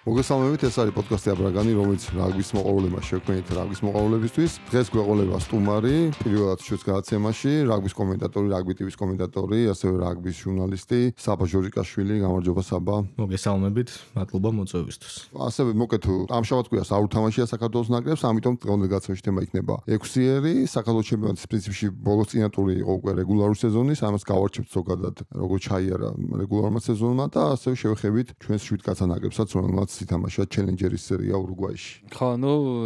მოგესალმებით, ეს არის პოდკასტი აბრაგანი, რომელიც რაგბის მოყვარულებმა შექმნით რაგბის მოყვარულებისთვის. დღეს გვეყოლება სტუმარი, პირველად ჩვენს გადაცემაში, რაგბის კომენტატორი, რაგბი ტივის კომენტატორი, ასევე რაგბის ჟურნალისტი საბა ჟორიკაშვილი. გამარჯობა საბა. მოგესალმებით, მადლობა მოწვევისთვის. ასევე მოკეთ ამშაბათ კვირას არ უთამაშია საქართველოს ნაკრებს, ამიტომ დღევანდელ გადაცემაში თემა იქნება 6-ერი, საქართველოს ჩემპიონატის პრინციპში ბოლოს წინა ტური იყო უკვე რეგულარული სეზონის, ამას გავარჩევთ ზოგადად, როგორ ჩაიარა რეგულარულმა სეზონმა და ასევე შევეხებით ჩვენს 7 კაცა ნაკრებსაც, რომელმაც ითამაშა ჩელენჯერის სერია ურუგვაიში. ხო,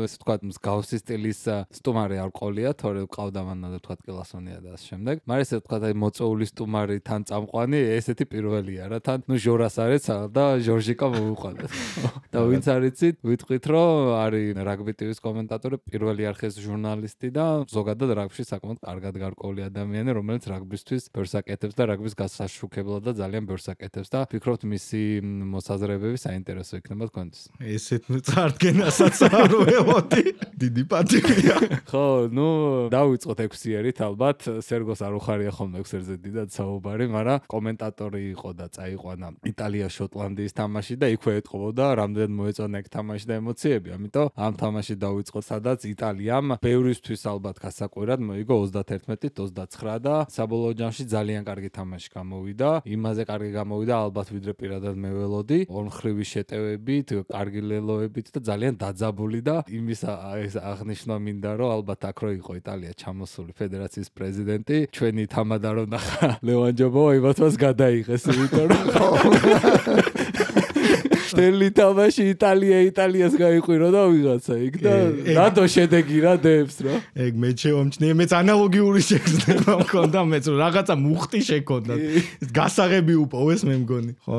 ესე ვთქვათ, მსგავსი სტილის სტუმარი არ ყოლია, თორე ყავდა მან და ვთქვათ კილასონია და ამ შემდეგ. მაგრამ ესე ვთქვათ, აი მოწვეული სტუმარი თან წამყვანი, ესეთი პირველია რა, თან ჟორას არის და ჟორჟიკა მოუყვანეთ. და ვინც არიცით, ვიტყვით, რომ არის რაგბი ტივის კომენტატორი, პირველი არხის ჟურნალისტი და ზოგადად რაგბში საკმაოდ კარგად გარკვეული ადამიანი, რომელიც რაგბისთვის ბევრს აკეთებს და რაგბის გასაშუქებლად და ძალიან ბევრს აკეთებს და ვფიქრობთ მისი მოსაზრებები საინტერესო იქნება თქვენთვის. ესეთ წარდგენასაც არ ველოდი. დიდი პატივია. ხო, დავიწყოთ 6-ერით ალბათ. სერგოს არ უხარია ხოლმე 6-ერზე დიდად საუბარი, მაგრამ კომენტატორი იყო და წაიყვანა იტალია-შოტლანდიის თამაში და იქვე ეთყობოდა რამდენად მოეწონა ეგ თამაში და ემოციები. ამიტომ ამ თამაში დავიწყოთ, სადაც იტალიამ ბევრისთვის ალბათ გასაკვირად მოიგო 31-29 და საბოლოო ჯამში ძალიან კარგი თამაში გამოვიდა. იმაზე კარგი გამოვიდა ალბათ ვიდრე პირადად მე ველოდი. ორმხრივი შეტევებით, კარგი ლელოებით და ძალიან დაძაბული და იმის აღნიშნა მინდა, რომ ალბათ აქ რო იყო იტალია ჩამოსული ფედერაციის პრეზიდენტი, ჩვენი თამადა რო ნახა ლევან ჯობოვა იმათვას გადაიღეს, იმიტომ რომ შტელი თამაში იტალიას გაიყვირო და ვიღაცა იქ და რატო შედეგი რა დებს რა. ეგ მე შევამჩნიე, მეც ანალოგიური შეგრძნება მქონდა, მეც რაღაცა მუხტი შექონდა. გასაღები უპოვეს მე მგონი. ხო,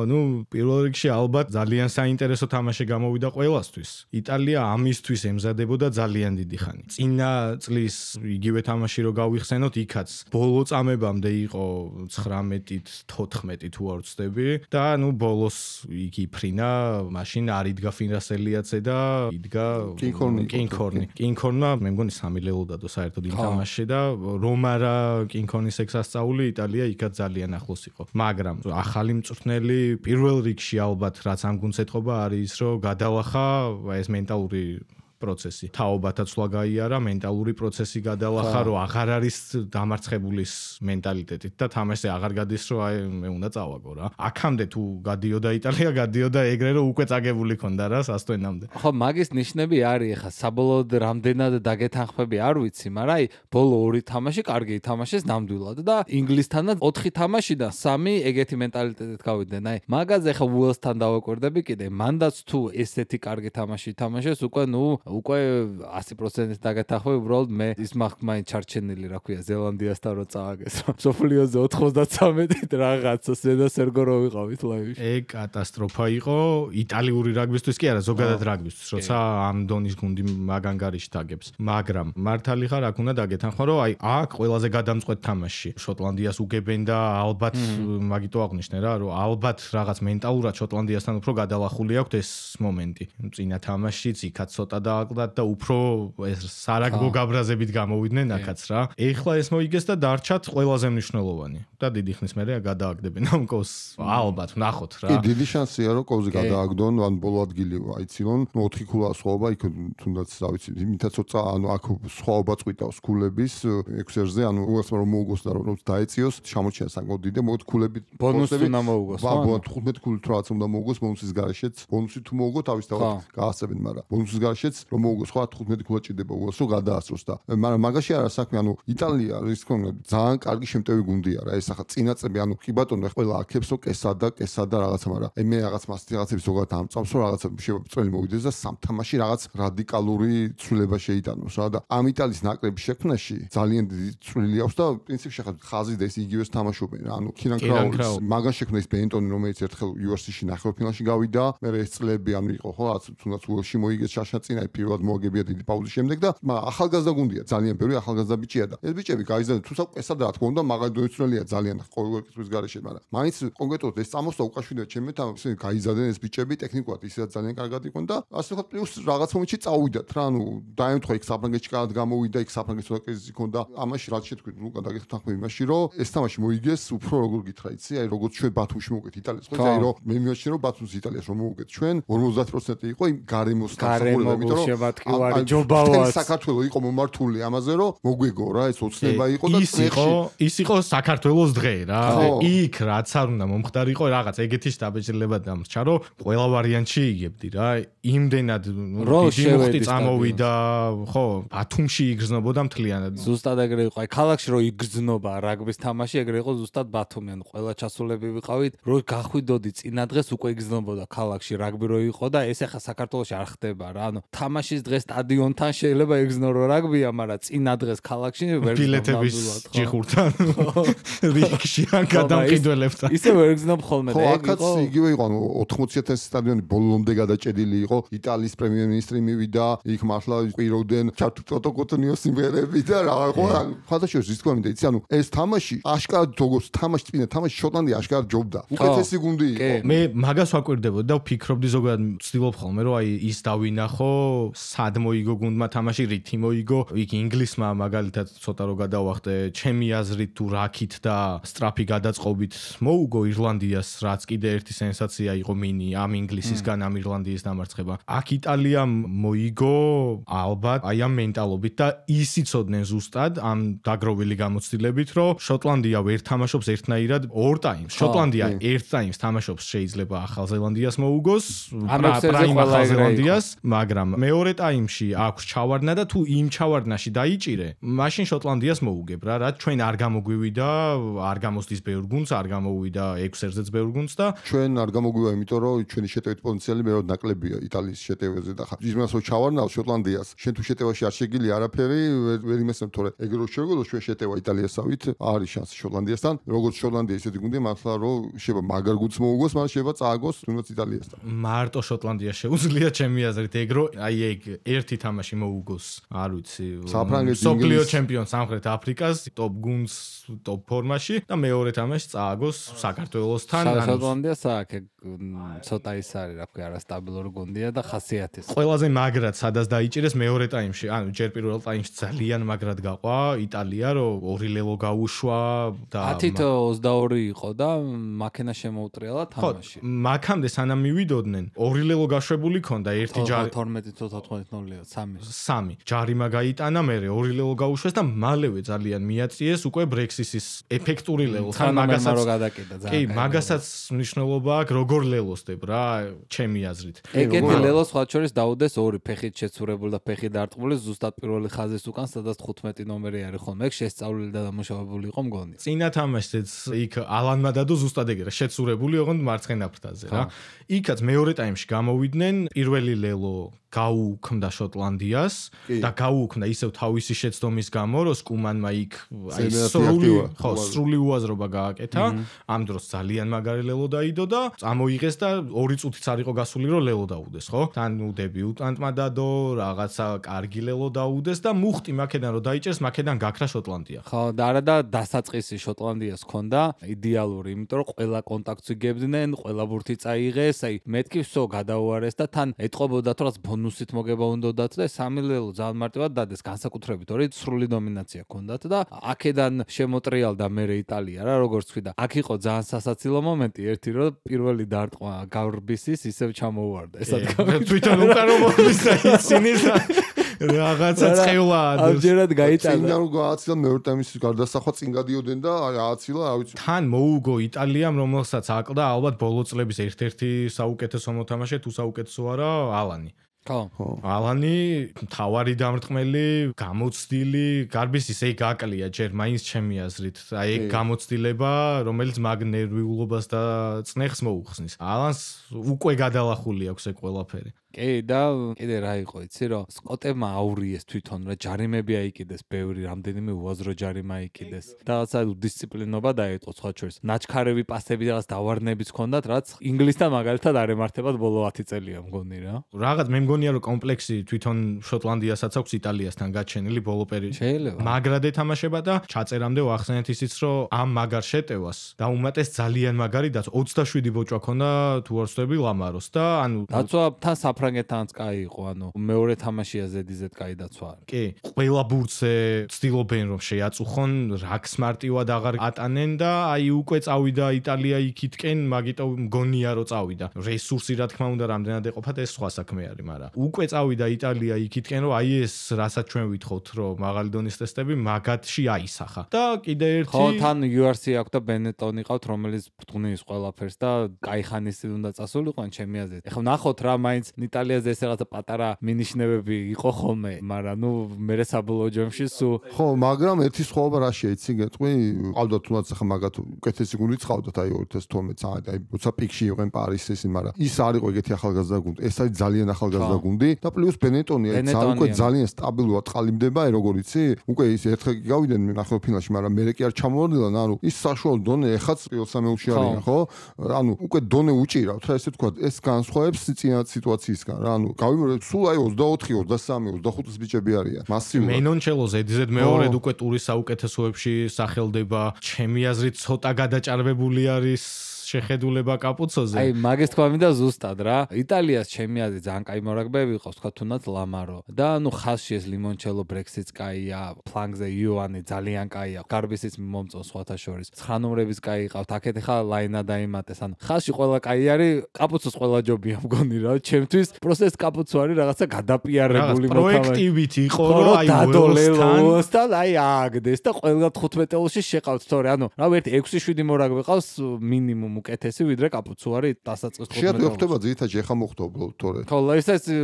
პირველ რიგში ალბათ ძალიან საინტერესო თამაში გამოვიდა ყველასთვის. იტალია ამისთვის ემზადებოდა ძალიან დიდი ხანი. წინა წლის იგივე თამაში რო გავიხსენოთ, იქაც ბოლო წამებამდე იყო 19-ით 14 თუ არ ვცდები და ბოლოს იქ იფრინა, მაშინ არ იდგა ფინრასელიაცე და იდგა კინქორნი. მე მგონი 3 ლელო დადო საერთოდ იმ თამაშში და რომ არა კინქორნის ეგ სასწაული, იტალია იქაც ძალიან ახლოს იყო. მაგრამ ახალი მწვრთნელი პირველ რიგში ალბათ რაც ამ გუნდს ეთყობა არის ის, რომ გადალახა ეს მენტალური პროცესი. თაობათა ცვლა გაიარა, მენტალური პროცესი გადალახა, რომ აღარ არის დამარცხებულის მენტალიტეტით და თამაშზე აღარ გადის, რომ აი მე უნდა წავაგო რა. აქამდე თუ გადიოდა იტალია, გადიოდა ეგრე, რომ უკვე წაგებული ქონდა რა სასტვენამდე. ხო, მაგის ნიშნები არის ხა საბოლოოდ რამდენად დაგეთანხმები არ ვიცი, მაგრამ აი ბოლო 2 თამაში კარგი ითამაშეს ნამდვილად და ინგლისთანაც 4 თამაშიდან 3 ეგეთი მენტალიტეტით გავიდნენ. აი მაგაზე ხა უელსთან დავაკვირდები კიდე, მანდაც თუ ესეთი კარგი თამაში ითამაშეს, უკვე 100% დაგეთანხმები, უბრალოდ მე ის მაინც ჩარჩენილი რა ქვია ზელანდიასთან რო წააგეს. სოფლიოზე 93-ით რაღაცა ზედა სერგო რო ვიყავით ლაივში. ეგ კატასტროფა იყო იტალიური რაგბისთვის კი არა, ზოგადად რაგბისთვის, როცა ამ დონის გუნდი მაგანგარიში დაგებს. მაგრამ მართალი ხარ, აქ უნდა დაგეთანხმა, რომ აი აქ ყველაზე გადამწყვეტ თამაში შოტლანდიას უგებენ და ალბათ მაგიტო აღნიშნე რა, რომ ალბათ რაღაც მენტალურად შოტლანდიასთან უფრო გადალახული აქვს ეს მომენტი. წინა თამაშიც იქაც ცოტა დააკლდათ და უფრო ეს სარაგბო გაბრაზებით გამოვიდნენ აქაც რა. ეხლა ეს მოიგეს და დარჩათ ყველაზე მნიშვნელოვანი. და დიდი ხნის მერე გადააგდებენ ამ კოს. ალბათ ვნახოთ რა. კი, დიდი შანსია რომ კოვზე გადააგდონ, ან ბოლო ადგილი აიცილონ. 4 ქულა სხვაობა იქ თუნდაც რა ვიცი, იმითაც ოცა აქ სხვაობა წვიტავს ქულების 6-ერზე, უასმა რომ მოუგოს და რომ დაეციოს, შემოჩია საკმაოდ დიდი, მოდი ქულები ბონუსი უნდა მოუგოს. 15 ქულით რაც უნდა მოუგოს, ბონუსის garaშეც. ბონუსი თუ მოუგო, თავისთავად გაასწრებენ, მაგრამ ბონუსის garaშეც რომ მოუგოს, ხო 15 ქულა ჭირდება უელს რომ გადაასწროს და მაგრამ მაგაში არა საქმე, იტალია ის თქო ძალიან კარგი შემტევი გუნდია რა. ეს ახლა წინა წები, კი ბატონო, ყველა აქებს რომ კესა და რაღაცა, მაგრამ მე რაღაც მასტიღაცების ზოგადად ამწამს რომ რაღაცა წველი მოვიდეს და სამ თამაში რაღაც რადიკალური ცვლილება შეიტანოს რა და ამ იტალიის ნაკრების შექმნაში ძალიან დიდი წვლილი აქვს და პრინციპში ხა ხაზი და ეს იგივეს თამაშობენ რა. კირან კრაულის მაგან შექმნა ის ბენტონი, რომელიც ერთხელ UFC-ში ნახევარფინალში გავიდა, მე ეს წლები იყო ხო, თუნდაც უელსში მოიგეს შაშა წინა პირველად მოაგებია დიდი პაუზის შემდეგ და ახალგაზრდა გუნდია, ძალიან ბევრი ახალგაზრდა ბიჭია და ეს ბიჭები გაიზარდა თუ საკესა და რა თქმა უნდა მაგარი დოიცნელია ძალიან ყოველ კითხვის გარეშე, მაგრამ მაინც კონკრეტულად ეს წამოსვლა უკავშირდება ჩემი თან ისინი გაიზარდნენ ეს ბიჭები ტექნიკურად ისედაც ძალიან კარგად იყვნენ და ასე ვთქვათ პლუს რაღაც მომენტში წავიდათ რა, ანუ დაემთხვა იქ საფრანგეთში კარგად გამოვიდა, იქ საფრანგეთის ცოტა კრიზისი ჰქონდა, ამაში რაც შეთქვით, ლუკა დაგეხმაროთ ახლა იმაში, რომ ეს თამაში მოიგეს უფრო როგორ გითხრა იცი, აი როგორც ჩვენ ბათუმში მოვუგეთ იტალიას, ხო, აი რომ მე მივაჩნია რომ ბათუმს იტალიას რომ მოვუგეთ ჩვენ 50% იყო იმ გარემოს დამსახურება, იმიტომ რომ შემატკივარი ჯობავად საქართველოს იყო მომართული ამაზე რომ მოგვიგო რა, ეს ოცნება იყო და ის იყო საქართველოს დღე რა. იქ რაც არ უნდა მომხდარიყო რაღაც ეგეთი შტაბეჭდილება დამრჩა რომ ყველა ვარიანტში იგებდი რა. იმდენად დიდი მუხტი წამოვიდა, ხო, ბათუმში იგრძნობოდა მთლიანად. ზუსტად ეგრე იყო. აი ქალაქში რომ იგრძნობა რაგბის თამაში, ეგრე იყო ზუსტად ბათუმი. ანუ ყველა ჩასულები ვიყავით, რომ გახვიდოდი წინა დღეს უკვე იგრძნობოდა ქალაქში რაგბი რო იყო და ეს ახლა საქართველოში არ ხდება რა. ანუ თამაშის დღეს სტადიონთან შეიძლება იგრძნო რაგბია, მაგრამ წინა დღეს ქალაქში ვერ ბილეთების ჭიხურთან რიგში ან გადამყიდველებთან. ისე ვერ იგრძნობ ხოლმე და ეგ იყო. იგივე იყო, ანუ 80,000 სტადიონი ბოლომდე გადაჭედილი იყო. იტალიის პრემიერ-მინისტრი მივიდა, იქ მართლა ყიროვდნენ ჩატუტოტოკოტნიო სიმღერები და რა ხო, ხათაშოს ის თქვა მინდა, იცი, ანუ ეს თამაში აშკარად როგორც თამაში წინა თამაში შოტლანდია აშკარად ჯობდა. უკეთესი გუნდი იყო. მე მაგას ვაკვირდებოდი და ვფიქრობდი ზოგადად ვცდილობ ხოლმე რომ აი ის დავინახო, სად მოიგო გუნდმა თამაში, რითი მოიგო, იქ ინგლისმა მაგალითად ცოტა რო გადავახტე, ჩემი აზრით თუ რაკით და სტრაფი გადაწყობით მოუგო ირლანდიას, რაც კიდე ერთი სენსაცია იყო მინი ამ ინგლისისგან ამ ირლანდიის დამარცხება. აქ იტალიამ მოიგო ალბათ აი ამ მენტალობით და ისიცოდნენ ზუსტად ამ დაგროვილი გამოცდილებით, რომ შოტლანდია ვერ თამაშობს ერთნაირად ორ ტაიმს. შოტლანდია ერთ ტაიმს თამაშობს შეიძლება ახალ ზელანდიას მოუგოს, პრაიმ ახალ ზელანდიას, მაგრამ მეორე ტაიმში აქვს ჩავარდნა და თუ იმ ჩავარდნაში დაიჭირე, მაშინ შოტლანდიას მოუგებ რა, რაც ჩვენ არ გამოგვივიდა, არ გამოსდის ბევრ გუნდს, არ გამოვიდა 6-ზე ბევრ გუნდს და ჩვენ არ გამოგვივა, იმიტომ რომ ჩვენი შეტევის პოტენციალი მეტად ნაკლებია იტალიის შეტევაზე და ხა იმას რო ჩავარდნავ შოტლანდიას, შენ თუ შეტევაში არ შეგილი არაფერი, ვერ იმესებ თორე ეგ რო შეგულო ჩვენ შეტევა იტალიასავით, არის შანსი შოტლანდიასთან, როგორც შოტლანდია ისეთი გუნდია, მართლა რომ შეიძლება მაგარ გუნდს მოუგოს, მაგრამ შეიძლება წააგოს თუნდაც იტალიასთან. მარტო შოტლანდია შეუძლია ჩემი აზრით ეგ რო აი ეგ ერთი თამაში მოუგოს, არ ვიცი, სოფლიო ჩემპიონ სამხრეთ აფრიკას, ტოპ გუნდს, ტოპ ფორმაში და მეორე თამაში წააგოს საქართველოსთან. შოტლანდია საქმე ცოტა ის არის, რა ქვია, არასტაბილური გუნდია და ხასიათის. ყველაზე მაგრად სადაც დაიჭირეს მეორე ტაიმში, ანუ ჯერ პირველ ტაიმში ძალიან მაგრად გაყვა იტალია, რომ ორი ლელო გაუშვა და 10-22 იყო და მაქენა შემოუტრიალა თამაში. მაქამდე სანამ მივიდოდნენ, ორი ლელო გაშვებული ქონდა, ერთი ჯარი 12-14-0-ია, 3 ჯარიმა გაიტანა, მერე ორი ლელო გაუშვეს და მალევე ძალიან მიაწიეს უკვე ბრექსისის ეფექტური ლელო. თან მაგასაც რო გადაკიდა ძალიან. კი, მაგასაც მნიშვნელობა აქვს, როგორ ლელოსდებ რა, ჩემი აზრით. ეგეთი ლელო სხვა შორის დაუდეს ორი ფეხით შეცურებული და ფეხი დარტყმული ზუსტად პირველი ხაზის უკან, სადაც 15 ნომერი არის ხოლმე, ეგ შესწავლილი და დამუშავებული იყო მგონი. წინა თამაშიც იქ ალანმა დადო ზუსტად ეგრე, შეცურებული ოღონდ მარცხენა ფრთაზე რა. იქაც მეორე ტაიმში გამოვიდნენ, პირველი ლელო გაუქმდა შოტლანდიას და გაუქმდა ისევ თავისი შეცდომის გამო, რომ სკუმანმა იქ აი სრული უაზრობა გააკეთა. ამ დროს ძალიან მაგარი ლელო დაიდო და წამოიღეს და 2 წუთიც არ იყო გასული, რომ ლელო დაუდეს, ხო? თან დებიუტანტმა დადო, რაღაცა კარგი ლელო დაუდეს და მუხტი მაქედან რომ დაიჭერს, მაქედან გაქრა შოტლანდია. ხო, და არა და დასაწყისი შოტლანდიას ჰქონდა idеალური, იმიტომ რომ ყველა კონტაქტს იგებდნენ, ყველა ბურთი წაიღეს, აი მეთქი ვსო გადაუარეს და თან ეტყობოდა თუ რაც ბონუსით მოგება უნდათ და 3 ლელო ძალიან მარტივად დადეს, განსაკუთრებით ორი სრული დომინაცია ჰქონდათ და აქედან შემოტრიალდა მერე იტალია რა, როგორც თქვი და აქ იყო ძალიან სასაცილო მომენტი, ერთი რომ პირველი დარტყმა გავრბისის ისევ ჩამოუვარდა ესად თვითონ უკან რომ მოვიდა ისინი რაღაცა წევლად ამჯერად გაიტანა. წინ რომ გააცილა მეორე ტაიმის გარდასახვა წინ გადიოდნენ და ააცილა, რა ვიცი. თან მოუგო იტალიამ, რომელსაც აკლდა ალბათ ბოლო წლების ერთ-ერთი საუკეთესო მოთამაშე, თუ საუკეთესო არა, ალანი. ხო. ალანი თავარი დამრტყმელი, გამოცდილი, გარბის ისე გაკლია ჯერ მაინც ჩემი აზრით. აი ეგ გამოცდილება, რომელიც მაგ ნერვიულობას და წნეხს მოუხსნის. ალანს უკვე გადალახული აქვს ეგ ყველაფერი. კი და კიდე რა იყო იცი რომ სკოტებმა აურიეს თვითონ რა ჯარიმები აიკიდეს ბევრი რამდენიმე უაზრო ჯარიმა აიკიდეს და რაცა დისციპლინობა დაიწყო სხვა შორის ნაჩქარევი პასები რაღაც დავარნებიც ჰქონდათ რაც ინგლისთან მაგალითად არ ემართებათ ბოლო 10 წელია მგონი რა რაღაც მე მგონია რომ კომპლექსი თვითონ შოტლანდიასაც აქვს იტალიასთან გაჩენილი ბოლო პერიოდში მაგრად ეთამაშება და ჩაწერამდე ვახსენეთ ისიც რომ ამ მაგარ შეტევას და უმეტეს ძალიან მაგარი და 27 ბოჭვა ქონდა თუ არ ვსწრები ლამაროს და ანუ დაცვა თან საფრანგეთთანაც კაი იყო ანუ მეორე თამაშია ზედიზედ კაი დაცვა არის კი ყველა ბურთზე ცდილობენ რომ შეაწუხონ რაქს მარტივად აღარ ატანენ და აი უკვე წავიდა იტალია იქითკენ მაგიტო მგონია რომ წავიდა რესურსი რა თქმა უნდა რამდენად ეყოფათ ეს სხვა საქმე არის მაგრამ უკვე წავიდა იტალია იქითკენ რომ აი ეს რასაც ჩვენ ვითხოვთ რომ მაღალი დონის ტესტები მაგათში აისახა და კიდე ერთი ხო თან URC აქვს და ბენეტონი ყავთ რომელიც ბრძნის ყველაფერს და კაი ხანის წინ უნდა წასულიყვან ჩემი აზრით ეხლა ნახოთ რა მაინც იტალიაზე ეს რაღაცა პატარა მინიშნებები იყო ხოლმე მაგრამ ნუ მე საბოლოო ჯამში სულ ხო მაგრამ ერთი სხვაობა რა შეიცი გეტყვი ყავდათ თუნდაც ახლა მაგათ უკეთესი გუნდი წავდათ აი 2012 წამი აი როცა პიკში იყვენ პარიზის მაგრამ ის არ იყო ეგეთი ახალგაზრდა გუნდი ეს არის ძალიან ახალგაზრდა გუნდი და პლუს ბენეტონი აი უკვე ძალიან სტაბილურად ყალიბდება აი როგორ იცი უკვე ის ერთხელ გავიდნენ ნახევარ ფინალში მაგრამ მე კი არ ჩამოვარდნილან ანუ ის საშუალო დონე ეხაც პირველ სამეულში არიან ხო ანუ უკვე დონე უჭირავთ რა ესე თქვა ეს განსხვავებს წინა სიტუაციისგან რა ანუ გავიმეორებ სულ აი 24 23 25 ბიჭები არიან მასიურად მენონჩელო ზედიზედ მეორედ უკვე ტურის საუკეთესოებში სახელდება ჩემი აზრით ცოტა გადაჭარბებული არის შეხედულება კაპუცოზე. აი მაგის თქვა მინდა ზუსტად რა. იტალიას ჩემი აზრით ძალიან კაი მორაგბეები ყავს, თქვა თუნდაც ლამარო. და ნუ ხაზში ეს ლიმონჩელო ბრექსიც კაია, ფლანგზე იოანი ძალიან კაია. გარბისიც მომწონს სხვათა შორის. 9 ნომრების კაი ყავთ. აქეთ ხა ლაინა დაიმატეს. ანუ ხაზში ყველა კაი არის, კაპუცოს ყველა ჯობია მგონი რა. ჩემთვის პროსტ ეს კაპუცო არის რაღაცა გადაპიარებული მოთავე. პროექტივით იყო რომ აი დადოლელოსთან აი ააგდეს და ყველა 15 ელში შეყავთ თორე. ანუ რავი ერთი 6-7 მორაგბე ყავს მინიმუმ უკეთესი ვიდრე კაპუცო არის დასაწყის 15. შეიძლება ხდება ძირითადად ეხა მოხდება თორე. ხო,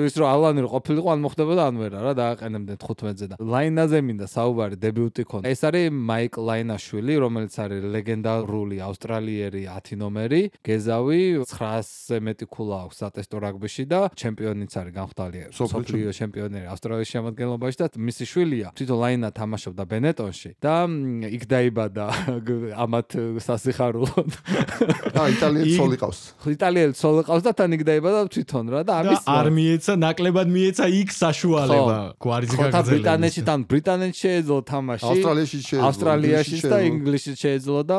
ის რომ ალანი რო ყოფილიყო ან მოხდებოდა ან ვერა რა დააყენებდნენ 15-ზე და ლაინაზე მინდა საუბარი დებიუტი ქონდა. ეს არის მაიკ ლაინაშვილი, რომელიც არის ლეგენდარული ავსტრალიერი 10 ნომერი, გეზავი 900-ზე მეტი ქულა აქვს სატესტო რაგბიში და ჩემპიონიც არის განხდალი სოფლიო ჩემპიონი ავსტრალიის შემადგენლობაში და მისი შვილია თვითონ ლაინა თამაშობდა ბენეტონში და იქ დაიბადა ამათ სასიხარულოდ. იტალიელი ცოლი ყავს. იტალიელი ცოლი ყავს და თან იქ დაიბადა თვითონ რა და ამის არ მიეცა ნაკლებად მიეცა იქ საშუალება გვარიძი გაგზელების. თან ბრიტანეთში შეეძლო თამაში. ავსტრალიაში და ინგლისში შეეძლო და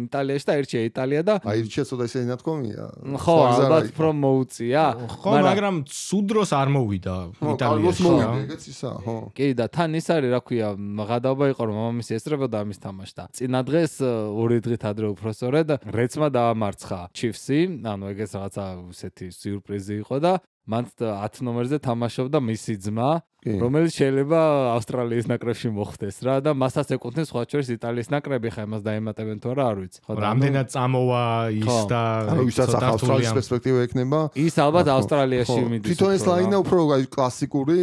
იტალიაში და ერთია იტალია და აირჩია ცოტა ისე ნათქვამია. ხო, ალბათ რომ მოუწია. ხო, მაგრამ სუდროს არ მოვიდა იტალიაში. ეგეც ისა, ხო. კი და თან ის არის რა ქვია, ღადაობა იყო რომ მამამისი ესწრებოდა ამის თამაშს და წინა დღეს ორი დღით ადრე უბრალოდ რეცმა დაამარცხა ჩიფსი, ანუ ეგეც რაღაცა ისეთი სიურპრიზი იყო და მან 10 ნომერზე თამაშობდა მისი ძმა, რომელიც შეიძლება ავსტრალიის ნაკრებში მოხდეს რა და მასაც ეკუთვნის სხვა შორის იტალიის ნაკრები, ხა იმას დაემატებენ თუ არა არ ვიცი. ხო, რამდენად წამოვა ის და ვისაც ავსტრალიის პერსპექტივა ექნება? ის ალბათ ავსტრალიაში მიდის. თვითონ ეს ლაინა უფრო კლასიკური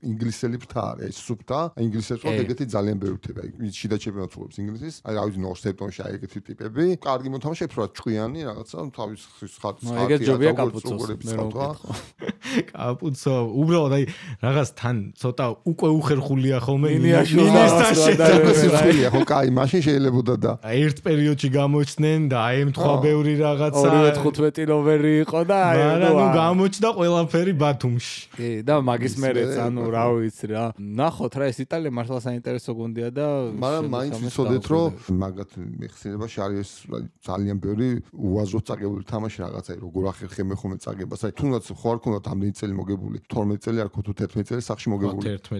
ინგლისელი ფრთა არის, სუფთა, ინგლისელს ხო ეგეთი ძალიან ბევრი ხდება. შიდა ჩემპიონატს უყურებს ინგლისის. აი რა ვიცი ნორსტემპტონში აი ეგეთი ტიპები, კარგი მოთამაშეები რა ჭკვიანი რაღაცა, თავის ხატს ხატი. ეგეთ ჯობია კაპუცოს. კაპუცო, უბრალოდ აი რაღაც თან ცოტა უკვე უხერხულია ხოლმე მინისტრთან შეხვილია ხო კაი მაშინ შეიძლებოდა და ერთ პერიოდში გამოჩნდნენ და აი ემთხვა ბევრი რაღაცა 15 ნომერი იყო და აი ნუ გამოჩნდა ყველაფერი ბათუმში კი და მაგის მერეც ანუ რა ვიცი რა ნახოთ რა ეს იტალია მართლა საინტერესო გუნდია და მაგრამ მაინც ვიცოდეთ რომ მაგათ მეხსიერებაში არის ძალიან ბევრი უაზროდ წაგებული თამაში რაღაცა როგორ ახერხე მე ხომ წაგებას აი თუნდაც ხო არ ქონდათ ამდენი წელი მოგებული 12 წელი არ ხო თუ 11 წელი სახში მოგებული.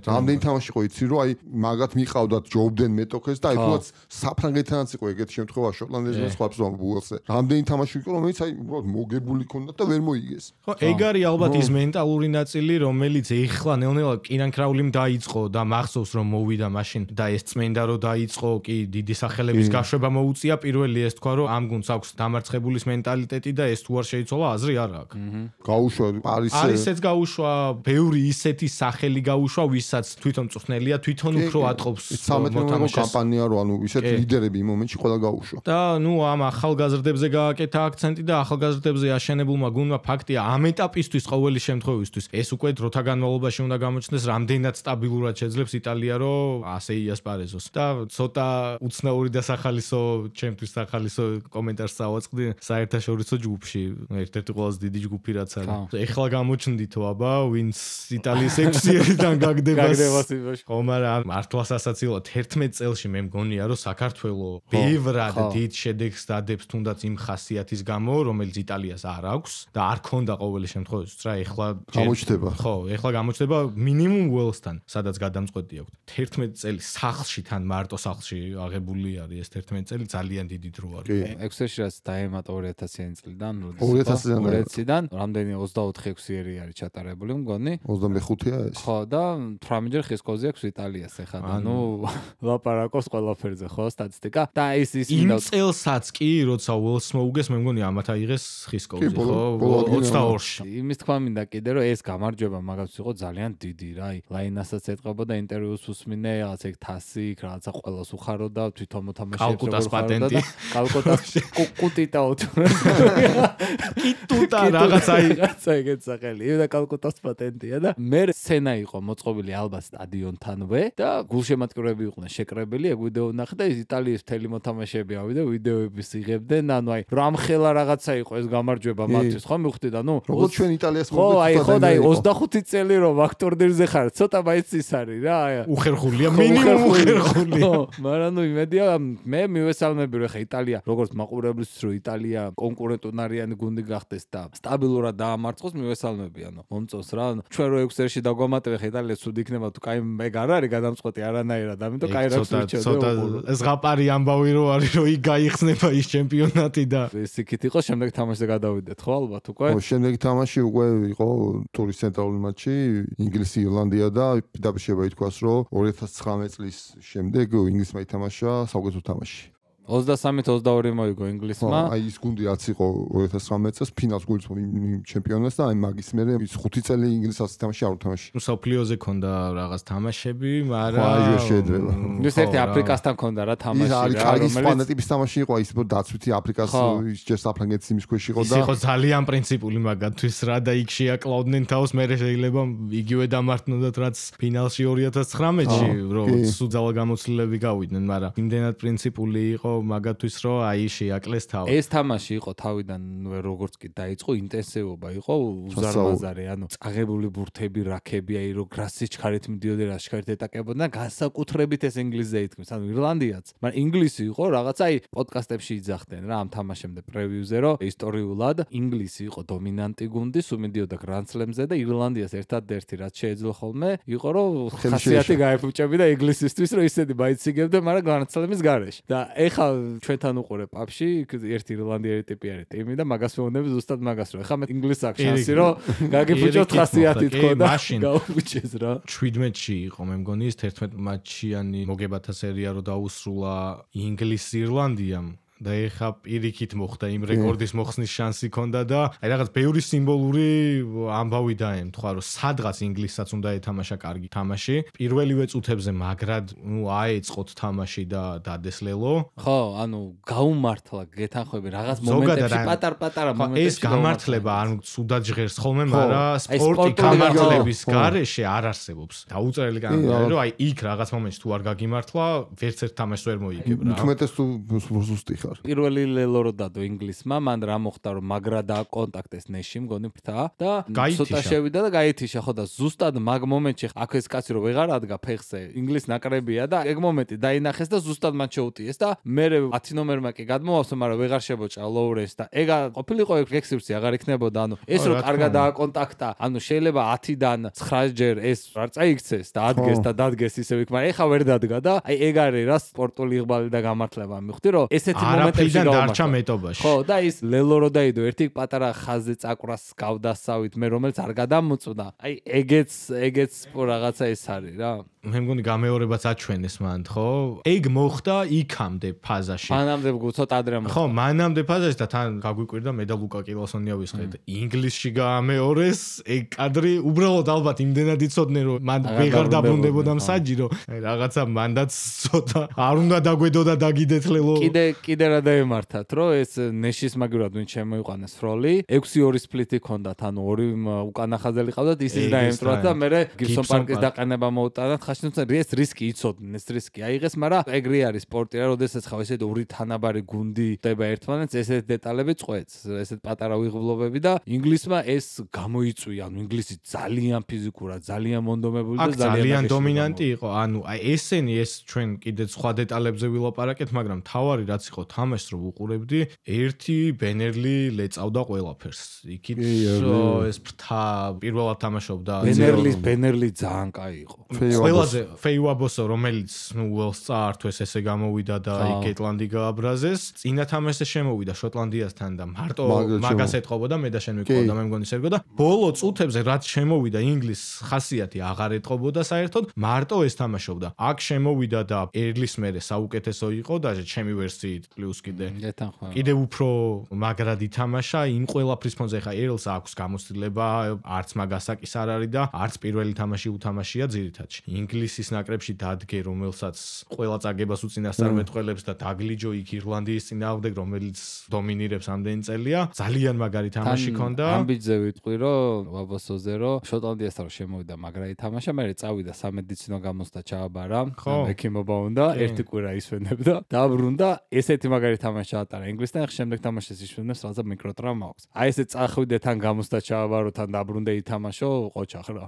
რამდენი თამაში იყო იცი რომ აი მაგათ მიყავდათ ჯობდნენ მეტოქეს და აი თუნდაც საფრანგეთთანაც იყო ეგეთი შემთხვევა შოტლანდიასთან სხვა ბუელსზე. რამდენი თამაში იყო რომელიც აი უბრალოდ მოგებული ქონდათ და ვერ მოიგეს. ხო, ეგ არის ალბათ ის მენტალური ნაწილი რომელიც ეხლა ნელ-ნელა კინანქრავლიმ დაიწყო და მახსოვს რომ მოვიდა მაშინ და ეს წმენდა რომ დაიწყო კი დიდი სახელების გაშვება მოუწია პირველი ეს თქვა რომ ამ გუნდს აქვს დამარცხებულის მენტალიტეტი და ეს თუ არ შეიცვალა აზრი არ აქვს. გაუშვა პარიზზე ისეც გაუშვა, ბევრი ისეთი სახელი გაუშვა, ვისაც თვითონ მწვრთნელია, თვითონ უფრო ატყობს მოთამაშეს. კამპანია რო ანუ ისეთ ლიდერები იმ მომენტში ყველა გაუშვა. და ნუ ამ ახალგაზრდებზე გააკეთა აქცენტი და ახალგაზრდებზე აშენებულმა გუნდმა ფაქტია ამ ეტაპისთვის ყოველი შემთხვევისთვის ეს უკვე დროთა განმავლობაში უნდა გამოჩნდეს რამდენად სტაბილურად შეძლებს იტალია რომ ასე იასპარეზოს და ცოტა უცნაური და სახალისო ჩემთვის სახალისო კომენტარს ავაწყდი საერთაშორისო ჯგუფში ერთ-ერთი ყველაზე დიდი ჯგუფი რაც არის ეხლა გამოჩნდითო აბა ვინც იტალიის 6-იდან გაგდებას ხომ არა მართლაც ასაცილო 11 წელში მე მგონია რომ საქართველოს ბევრად დიდ შედეგს დადებს თუნდაც იმ ხასიათის გამო რომელიც იტალიას არ აქვს და არ ქონდა ყოველი შემთხვევაში რა ეხლა გამოჩნდება ხო ეხლა გამოჩნდება მინიმუმ ველსთან სადაც გადამწყვეტი აქვს 11 წელი სახლში თან მარტო სახლში აღებული არის ეს 11 წელი ძალიან დიდი დრო არის ექსელში რაც დაემატა 2000-იანი წლიდან 2000-დან რამდენი 24-6-ერი არის ჩატარებული მგონი 25-ია ეს ხო და 18-ჯერ ხის კოზი აქვს იტალიას ეხლა და ნუ ლაპარაკობს ყველაფერზე ხო სტატისტიკა და ის იმ წელსაც კი როცა ველს მოუგეს მე მგონი ამათ აიღეს ხის კოზი ხო 22-ში იმის თქვა მინდა კიდე რომ ეს გამარჯვება მაგაც იყო ძალიან დიდი რა ლაინასაც ეტყობოდა ინტერვიუს უსმინე რაღაც ეგ თასი რაღაცა ყველას უხაროდა თვითონ მოთამაშეებს კალკუტას პატენტი კალკუტას კუკუტიტაო კიტუტა რაღაცა ეგეთ სახელი და კალკუტას პატენტია და მე სცენა იყო მოწყობილი ალბათ სტადიონთანვე და გულშემატკივრები იყვნენ შეკრებილი ეგ ვიდეო ნახე და იტალიის მთელი მოთამაშეები ავიდა ვიდეოების იღებდნენ ანუ აი რამხელა რაღაცა იყო ეს გამარჯვება მათთვის ხო მივხვდი და ნუ როგორც ჩვენ იტალიას ხო და 25 წელი რომ აქ ტურნირზე ხარ ცოტა მაინც ის არის რა უხერხულია მინიმუმ უხერხულია მაგრამ ნუ იმედია მე მივესალმები რომ ხა იტალია როგორც მაყურებლის რო იტალია კონკურენტუნარიანი გუნდი გახდეს და სტაბილურად დაამარცხოს მივესალმები ანუ მომწონს რა ჩვენ რო 6-ში დაგვამატებე ხა იტალია სულ იქნება თუ კაი მე არ არის გადამწყვეტი არანაირად ამიტომ კაი რაკს ცოტა ზღაპარი ამბავი რო არის რომ იქ გაიხსნება ის ჩემპიონატი და ეს იქით იყო შემდეგ თამაშზე გადავიდეთ ხო ალბათ უკვე ხო შემდეგ თამაში უკვე იყო ტურის ცენტრალური მატჩი ინგლისი ირლანდია და დაბშება ითქვას რომ 2019 წლის შემდეგ ინგლისმა ითამაშა საუკეთესო თამაში 23-22 მოიგო ინგლისმა. აი ის გუნდი რაც იყო 2019 წელს ფინალს გულისხმობ ჩემპიონატს და აი მაგის მერე ის 5 წელი ინგლისის თამაში არ უთამაში. სოფლიოზე ქონდა რაღაც თამაშები, მაგრამ აიო შეიძლება. ის ერთი აფრიკასთან ქონდა რა თამაში რა, რომელიც ფანეტების თამაში იყო ის დაცვითი აფრიკას ის ჯერ საფრანგეთის იმის ქვეშ იყო და ის იყო ძალიან პრინციპული მაგათთვის რა და იქ შეაკლავდნენ თავს მე შეიძლება იგივე დამართნოდათ რაც ფინალში 2019-ში რომ სუძალა გამოცდილები გავიდნენ, მაგრამ იმდენად პრინციპული იყო მაგათთვის რომ აი შეაკლეს თავი. ეს თამაში იყო თავიდან როგორც კი დაიწყო ინტენსივობა იყო უზარმაზარი, ანუ წაღებული ბურთები, რაქები, აი რო გრასის ჩქარით მიდიოდნენ, რა ჩქარით ეტაკებოდნენ, განსაკუთრებით ეს ინგლისზე ითქმის, ანუ ირლანდიაც. მაგრამ ინგლისი იყო რაღაც აი პოდკასტებში იძახდნენ რა ამ თამაშემდე პრევიუზე რომ ისტორიულად ინგლისი იყო დომინანტი გუნდი, სუმიდიოდა გრანდსლემზე და ირლანდიას ერთადერთი რაც შეეძლო ხოლმე იყო რომ ხასიათი გაეფუჭებდა ინგლისისთვის რომ ისეთი მაიციგებდა, მაგრამ გრანდსლემის გარეშე. და ეხლა ჩვენთან უყურე პაპში ერთი ირლანდიელი ტიპი არის ტიმი და მაგას მეუბნები ზუსტად მაგას რომ ეხლა მე ინგლისს აქვს შანსი რომ გაგიფუჭოთ ხასიათი თქო და გაუფუჭეს რა 17-ში იყო მე მგონი ის 11 მატჩიანი მოგებათა სერია რომ დაუსრულა ინგლისი ირლანდიამ და ეხა პირიქით მოხდა იმ რეკორდის მოხსნის შანსი ქონდა და აი რაღაც ბევრი სიმბოლური ამბავი დაემთხვა რომ სადღაც ინგლისსაც უნდა ეთამაშა კარგი თამაში პირველივე წუთებზე მაგრად ნუ აეწყოთ თამაში და დადესლელო ხო ანუ გაუმართლა გეთანხმები რაღაც მომენტებში პატარ-პატარა მომენტებში ეს გამართლება არ ცუდად ჟღერს ხოლმე მაგრამ სპორტი გამართლების გარეშე არ არსებობს დაუწერელი განმარტება რომ აი იქ რაღაც მომენტში თუ არ გაგიმართლა ვერც ერთ თამაშს ვერ მოიგებ რა თუმეტეს თუ ზუსტი ხარ პირველი ლელო რო დადო ინგლისმა მან რა მოხდა რომ მაგრა და კონტაქტეს ნეში მგონი ფრთა და ცოტა შევიდა და გაითიშა ხო და ზუსტად მაგ მომენტში აქ ეს კაცი რო ვეღარ ადგა ფეხზე ინგლის ნაკრებია და ეგ მომენტი დაინახეს და ზუსტად მათ შეუტიეს და მე 10 ნომერმა კი გადმოვავსო მაგრამ ვეღარ შებოჭა ლოურეს და ეგ ყოფილიყო ექსპერტი აღარ იქნებოდა ანუ ეს რო კარგად დააკონტაქტა ანუ შეიძლება 10-დან 9-ჯერ ეს არ წაიქცეს და ადგეს და დადგეს ისევ იქ მაგრამ ეხა ვერ დადგა და აი ეგ არის რა სპორტული იღბალი და გამართლება მივხვდი რომ ესეთი მომენტებში დარჩა მეტობაში. ხო, და ის ლელო რო დაიდო ერთი პატარა ხაზზე წაკვრას გავდასავით მე რომელიც არ გადამოწვდა. აი ეგეც რაღაცა ეს არის რა. მე მგონი გამეორებაც აჩვენეს მან, ხო? ეგ მოხდა იქამდე ფაზაში. მანამდე ცოტა ადრე მოხდა. ხო, მანამდე ფაზაში და თან გაგვიკვირდა მე და ლუკა კილოსონია ვისყიდ. ინგლისში გამეორეს ეგ კადრი უბრალოდ ალბათ იმდენად იცოდნენ რომ მან ვეღარ დაბრუნდებოდა მსაჯი რომ რაღაცა მანდაც ცოტა არ უნდა დაგვედო და დაგიდეთ ლელო. კიდე რა დაემართათ რომ ეს ნეშის მაგივრად ვინ შემოიყვანეს როლი 6-2 სპლიტი ჰქონდათ ანუ ორი უკანა ხაზელი ყავდათ ისიც დაემტრათ და მე გიბსონ პარკის დაყენება მოუტანათ ხაშნუცა ეს რისკი იცოდნენ ეს რისკი აიღეს მაგრამ ეგრე არის სპორტი რა როდესაც ხავ ესეთ ორი თანაბარი გუნდი ხდება ერთმანეთს ესეთ დეტალები წყვეტს ესეთ პატარა უიღბლობები და ინგლისმა ეს გამოიწვია ანუ ინგლისი ძალიან ფიზიკურად ძალიან მონდომებული და ძალიან დომინანტი იყო ანუ აი ესენი ეს ჩვენ კიდე სხვა დეტალებზე ვილაპარაკეთ მაგრამ თავარი რაც იყო თამაშს რო უყურებდი ერთი ბენერლი ლეწავდა ყველაფერს იქით ეს ფრთა პირველად თამაშობდა ბენერლი ძალიან კაი იყო ყველაზე ფეიუაბოსო რომელიც ნუ უელს წაართვეს ესე გამოვიდა და იკეტლანდი გააბრაზეს წინა თამაშზე შემოვიდა შოტლანდიასთან და მარტო მაგას ეთყობოდა მე და შენ მეკყოდა მე მგონი სერგო და ბოლო წუთებზე რაც შემოვიდა ინგლისს ხასიათი აღარ ეთყობოდა საერთოდ მარტო ეს თამაშობდა აქ შემოვიდა და ერლის მერე საუკეთესო იყო და ჩემი ვერსიით პლუს კიდე უფრო მაგრად ითამაშა იმ ყველაფრის ფონზე ხა ერლს აქვს გამოცდილება არც მაგასაკის არ არის და არც პირველი თამაში უთამაშია ძირითადში ინგლისის ნაკრებში დადგე რომელსაც ყველა წაგებას უწინასწარმეტყველებს და დაგლიჯო იქ ირლანდიის წინააღმდეგ რომელიც დომინირებს ამდენი წელია ძალიან მაგარი თამაში ქონდა ამბიძე ვიტყვი რომ ვაბოსოზე რომ შოტლანდიასთან შემოვიდა მაგრა ითამაშა მე წავიდა სამედიცინო გამოსთა ჩააბარა ექიმობა უნდა ერთი კვირა ისვენებდა დაბრუნდა ესეთი მაგარი თამაში ატარა ინგლისთან შემდეგ თამაშეს ისვენებს რაღაცა მიკროტრაუმა აქვს აი ესე წახვიდე თან გამოსთა ჩააბარო თან დაბრუნდე ითამაშო ყოჩახ რა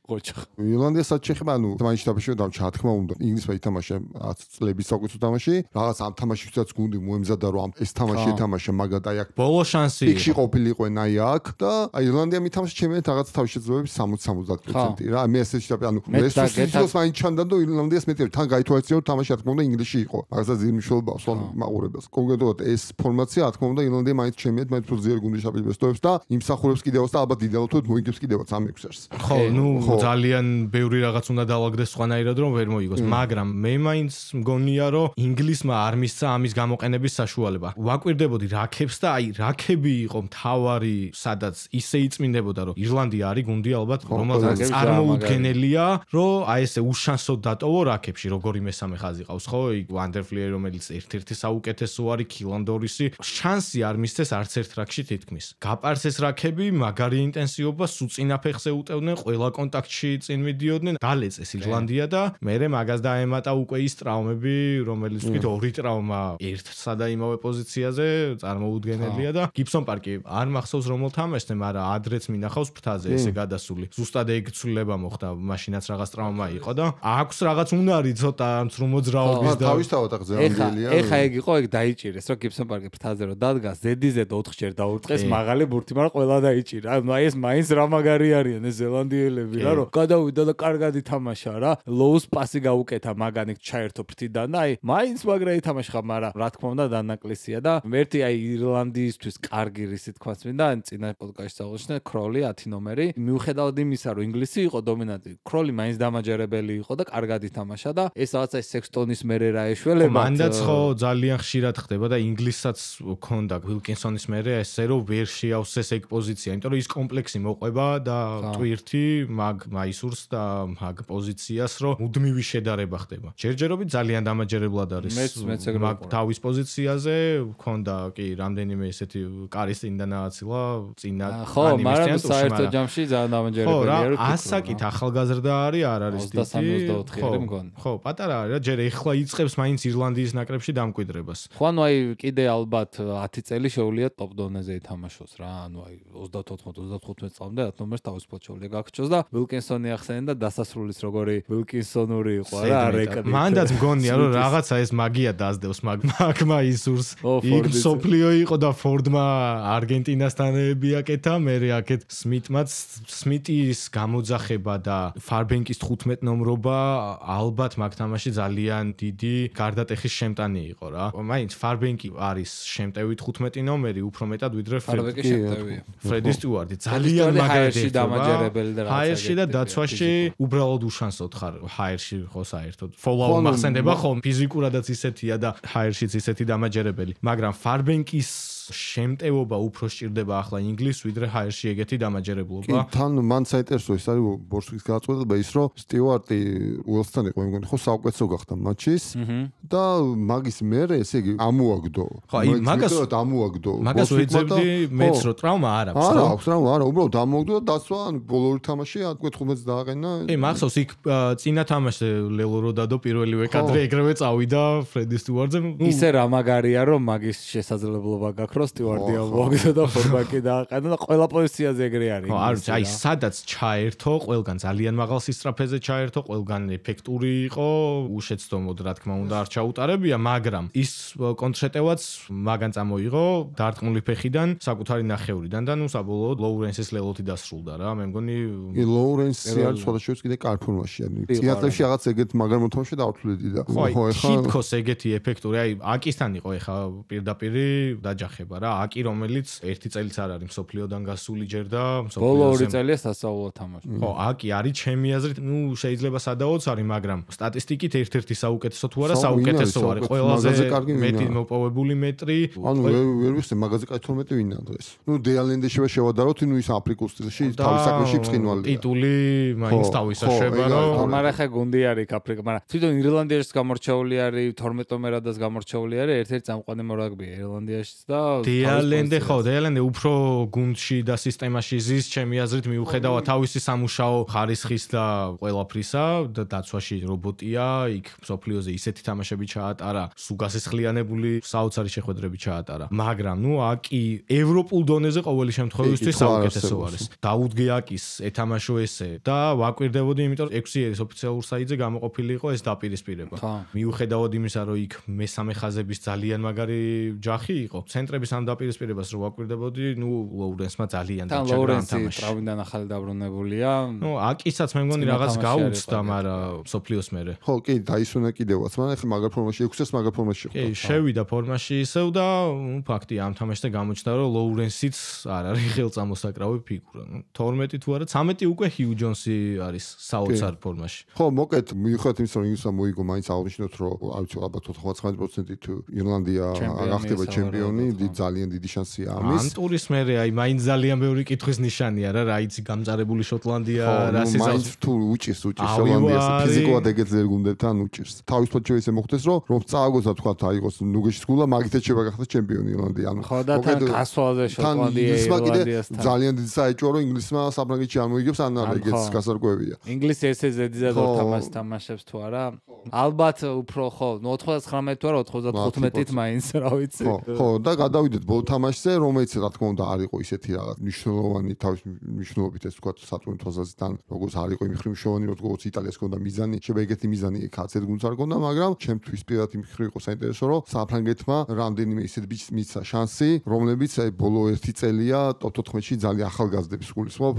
ყოჩახ ირლანდიასაც შეხება ანუ თამაში თამაში და ჩა თქმა უნდა ინგლისმა ითამაშა 10 წლების საუკეთესო თამაში რაღაც ამ თამაშისაც გუნდი მოემზადა რომ ეს თამაში ეთამაშა მაგათ აი აქ ბოლო შანსი იქში ყოფილიყვენ აი აქ და აი ირლანდია მითამაშა ჩემი რაღაც თავის შეძლებების 60-70% რა მე ესეც და ანუ რესურსის მაინც ჩანდა და ირლანდიას მეტი თან გაითვალისწინო თამაში თქმა უნდა ინგლისში იყო მაგასაც ძირმშულობა სულ მაყურებელს კონკრეტულად ეს ფორმაცია თქმა უნდა ირლანდია მაინც ჩემიეთ მაინც უფრო ძლიერი გუნდი შაბილბესტოებს და იმსახურებს კიდევაც და ალბათ იდეალურად მოიგებს კიდევაც ამ 6 ჟერს ხო ნუ ძალიან ბევრი რაღაც უნდა დაალაგდეს სხვანაირად რომ ვერ მოიგოს მაგრამ მე მაინც მგონია რომ ინგლისმა არ მისცა ამის გამოყენების საშუალება ვაკვირდებოდი რაქებს და აი რაქები იყო მთავარი სადაც ისე იწმინდებოდა რომ ირლანდია არის გუნდი ალბათ რომელსაც წარმოუდგენელია რომ აი ესე უშანსოდ დატოვო რაქებში როგორი მესამე ხაზი ყავს ხო იქ ვანდერფლიერი რომელიც ერთ-ერთი საუკეთესო არის კილანდორისი შანსი არ მისცეს არც ერთ რაქში თითქმის გაპარცეს რაქები მაგარი ინტენსივობა სუწინა ფეხზე უტევდნენ ყველა კონტაქტში წინ მიდიოდნენ დალეწეს ირლანდია და მერე მაგას დაემატა უკვე ის ტრავმები რომელიც ვთქვით ორი ტრავმა ერთსა და იმავე პოზიციაზე წარმოუდგენელია და გიბსონ პარკი არ მახსოვს რომელ თამაშზე მაგრამ ადრეც მინახავს ფრთაზე ესე გადასული ზუსტად ეგ ცვლილება მოხდა მაშინაც რაღაც ტრავმა იყო და აქვს რაღაც უნარი ცოტა მძრმოძრაობის და თავისთავად აღზევანდელია ეხა ეგ იყო ეგ დაიჭირეს რომ გიბსონ პარკი ფრთაზე რომ დადგა ზედიზედ 4-ჯერ დაურტყეს მაღალი ბურთი მაგრამ ყველა დაიჭირა ანუ აი ეს მაინც რა მაგარი არიან ეს ზელანდიელები რა რომ გადავიდა და კარგად ითამაშა რა ლოუს პასი გაუკეთა მაგანიკ ჩაერთო ფრთიდან და აი მაინც მაგრა ითამაშა მაგრამ რა თქმა უნდა დანაკლისია და ერთი აი ირლანდიისთვის კარგი რისი თქვაც მინდა წინა პოდკასტში აღნიშნე ქროლი 10 ნომერი მიუხედავად იმისა რომ ინგლისი იყო დომინანტი ქროლი მაინც დამაჯერებელი იყო და კარგად ითამაშა და ეს რაღაცა სექსტონის მერე რა ეშველება მანდაც ხო ძალიან ხშირად ხდება და ინგლისსაც ქონდა ვილკინსონის მერე ესე რომ ვერ შეავსეს ეგ პოზიცია იმიტომ რომ ის კომპლექსი მოყვება და ტვირთი მაგ მაისურს და მაგ პოზიციას რომ მუდმივი შედარება ხდება ჯერჯერობით ძალიან დამაჯერებლად არის მაგ თავის პოზიციაზე ქონდა კი რამდენიმე ესეთი კარის წინ დანააცილა წინა ხო მაგრამ საერთო ჯამში ძალიან დამაჯერებელია რომ ასაკით ახალგაზრდა არის არ არის დიდი ხო პატარა არის რა ჯერ ეხლა იწყებს მაინც ირლანდიის ნაკრებში დამკვიდრებას ხო ანუ აი კიდე ალბათ 10 წელი შეუძლია ტოპ დონეზე ითამაშოს რა ანუ აი 34-35 წლამდე 10 ნომერს თავისუფლად შეუძლია გაქჩოს და ვილკინსონი ახსენენ და დასასრულის როგორი ვილკინსონური იყო რა არეკადით მანდაც მგონია რომ რაღაცა ეს მაგია დაძდევს მაგმა ისურს იქ სოფლიო იყო და ფორდმა არგენტინასთან ეებიაკეთა მე აქეთ სმიტის გამოძახება და ფარბენკის 15 ნომრობა ალბათ მაგ თამაში ძალიან დიდი გარდატეხის შემტანი იყო რა მაინც ფარბენკი არის შემტევი 15 ნომერი, უფრო მეტად ვიდრე ფარბენკი შემტევია. ფრედი სტიუარტი ძალიან მაგარი დამაჯერებელი და რაღაცა. ჰაერში და დაცვაში უბრალოდ უშანსოდ ხარ ჰაერში ხო საერთოდ. Follow მახსენდება ხომ ფიზიკურადაც ისეთია და ჰაერშიც ისეთი დამაჯერებელი. მაგრამ ფარბენკის შემტევობა უფრო სჭირდება ახლა ინგლისს ვიდრე ჰაერში ეგეთი დამაჯერებლობა. კი, თან მან საინტერესო ის არის ბორშვის გადაწყვეტილება ის რომ სტიუარტი უელსთან იყო მე მგონი ხო საუკეთესო გახდა მატჩის და მაგის მერე ესე იგი ამოაგდო. ხო, ამოაგდო. მაგას ვეძებდი მეც რომ ტრავმა არ აქვს. არა, აქვს ტრავმა, არა, უბრალოდ ამოაგდო და დაცვა ბოლო ორი თამაში 15-ს დააყენა. კი, მახსოვს იქ წინა თამაშზე ლელო რო დადო პირველივე კადრე ეგრევე წავიდა ფრედი სტიუარტზე. ისე რა მაგარია რომ მაგის შესაძლებლობა გაქვს სტიუარტი ამოაგდო და ფორბაკი დააყენა და ყველა პოზიციაზე ეგრე არის. ხო, აი სადაც ჩაერთო, ყველგან ძალიან მაღალ სისწრაფეზე ჩაერთო, ყველგან ეფექტური იყო, უშეცდომოდ რა თქმა უნდა არ ჩაუტარებია, მაგრამ ის კონტრშეტევაც მაგან წამოიღო დარტყმული ფეხიდან, საკუთარი ნახევრიდან და ნუ საბოლოოდ ლოურენსის ლელოთი დასრულდა რა, მე მგონი კი ლოურენსი არის სხვადასხვა კიდე კარ ფორმაში არის. წიაღებში რაღაც ეგეთ მაგარ მოთამაშე დაავთვლედი და ხო, ჰიპქოს ეგეთი ეფექტური, აი აკისთან იყო ეხა პირდაპირი დაჯახება რა, აკი რომელიც ერთი წელიც არ არის მსოფლიოდან გასული ჯერ და ბოლო ორი წელია სასწავლო თამაში. ხო, აკი არის ჩემი აზრით, ნუ შეიძლება სადაოც არის, მაგრამ სტატისტიკით ერთ-ერთი საუკეთესო თუ არა, საუკეთესო არის. ყველაზე მეტი მოპოვებული მეტრი. ანუ ვერ ვიცი მაგაზე კაც 12 ვინაა დღეს. ნუ დეალენდე შევადაროთ, ნუ ის აფრიკულ სტილში თავის საქმეში ბრწყინვალია. ტიტული მაინც თავისაშება, რომ მაგრამ ხე გუნდი არის აფრიკა, მაგრამ თვითონ ირლანდიაში გამორჩეული არის, 12 ნომერადაც გამორჩეული არის, ერთ-ერთი წამყვანი მორაგბია ირლანდიაშიც და დეალენდე ხო, დეალენდე უფრო გუნდში და სისტემაში ზის, ჩემი აზრით მიუხედავად თავისი სამუშაო ხარისხის და ყველაფრისა და დაცვაში რობოტია, იქ მსოფლიოზე ისეთი თამაშები ჩაატარა, სუგასისხლიანებული საოცარი შეხვედრები ჩაატარა. მაგრამ ნუ აკი ევროპულ დონეზე ყოველი შემთხვევისთვის საუკეთესო არის. დაუდგე აკის ეთამაშო ესე და ვაკვირდებოდი, იმიტომ რომ 6 ერის ოფიციალურ საიტზე გამოყოფილი იყო ეს დაპირისპირება. მიუხედავად იმისა, რომ იქ მესამე ხაზების ძალიან მაგარი ჯახი იყო, ცენტრების ამ დაპირისპირებას რო ვაკვირდებოდი, ნუ ლოურენსმა ძალიან დაჭერა ამ თამაში. ტრავმიდან ახალი დაბრუნებულია. ნუ აკისაც მე მგონი რაღაც გაუწდა, მაგრამ სოფლიოს მერე. ხო, კი, დაისვენა კიდევაც, მაგრამ ახლა მაგარ ფორმაში 6-ს მაგარ ფორმაში იყო. კი, შევიდა ფორმაში ისევ და ფაქტია ამ თამაშზე გამოჩნდა, რომ ლოურენსიც არ არის ხელწამოსაკრავი ფიგურა. 12 თუ არა, 13 უკვე ჰიუ ჯონსი არის საოცარ ფორმაში. ხო, მოკეთ, მიუხედავად იმისა, რომ ინგლისმა მოიგო, მაინც აღნიშნოთ, რომ არ ვიცი, ალბათ 99% თუ ირლანდია არ ხდება ჩემპიონი, ძალიან დიდი შანსია ამის. ამ ტურის მერე აი მაინც ძალიან ბევრი კითხვის ნიშანია რა, იცი გამწარებული შოტლანდია, რა სიზავს. მაინც თუ უჭირს შოტლანდიას ფიზიკურად ეგეთ ზერგუნდებთან უჭირს. თავისუფლად შეიძლება მოხდეს, რომ წააგოს და თქვა აიღოს ნუგეშის გულა, მაგითაც შეიძლება გახდეს ჩემპიონი ირლანდია. ანუ ხო და თან გასვლაზე შოტლანდია ირლანდიასთან. ძალიან დიდი საეჭვო რომ ინგლისმა საფრანგეთში არ მოიგებს, ან არა ეგეც გასარკვევია. ინგლისი ესე ზედიზად ორ თამაშს თამაშებს თუ არა? ალბათ უფრო ხო, 99 თუ არა 95-ით მაინც რა ვიცი. ხო, და გადავიდეთ ბოლო თამაშზე, რომელიც რა თქმა უნდა არ იყო ისეთი რაღაც მნიშვნელოვანი თავის მნიშვნელობით ეს თქვა სატურნ თვალსაზრისით, როგორც არ იყო იმ ხრივ მნიშვნელოვანი, როგორც იტალიას ჰქონდა მიზანი, შეიძლება ეგეთი მიზანი კაცეთ გუნდს არ ჰქონდა, მაგრამ ჩემთვის პირადად იმ ხრივ იყო საინტერესო, რომ საფრანგეთმა რამდენიმე ისეთ ბიჭს მისცა შანსი, რომლებიც აი ბოლო 1 წელია ტოპ 14-ში ძალიან ახალგაზრდებს გულისხმობ,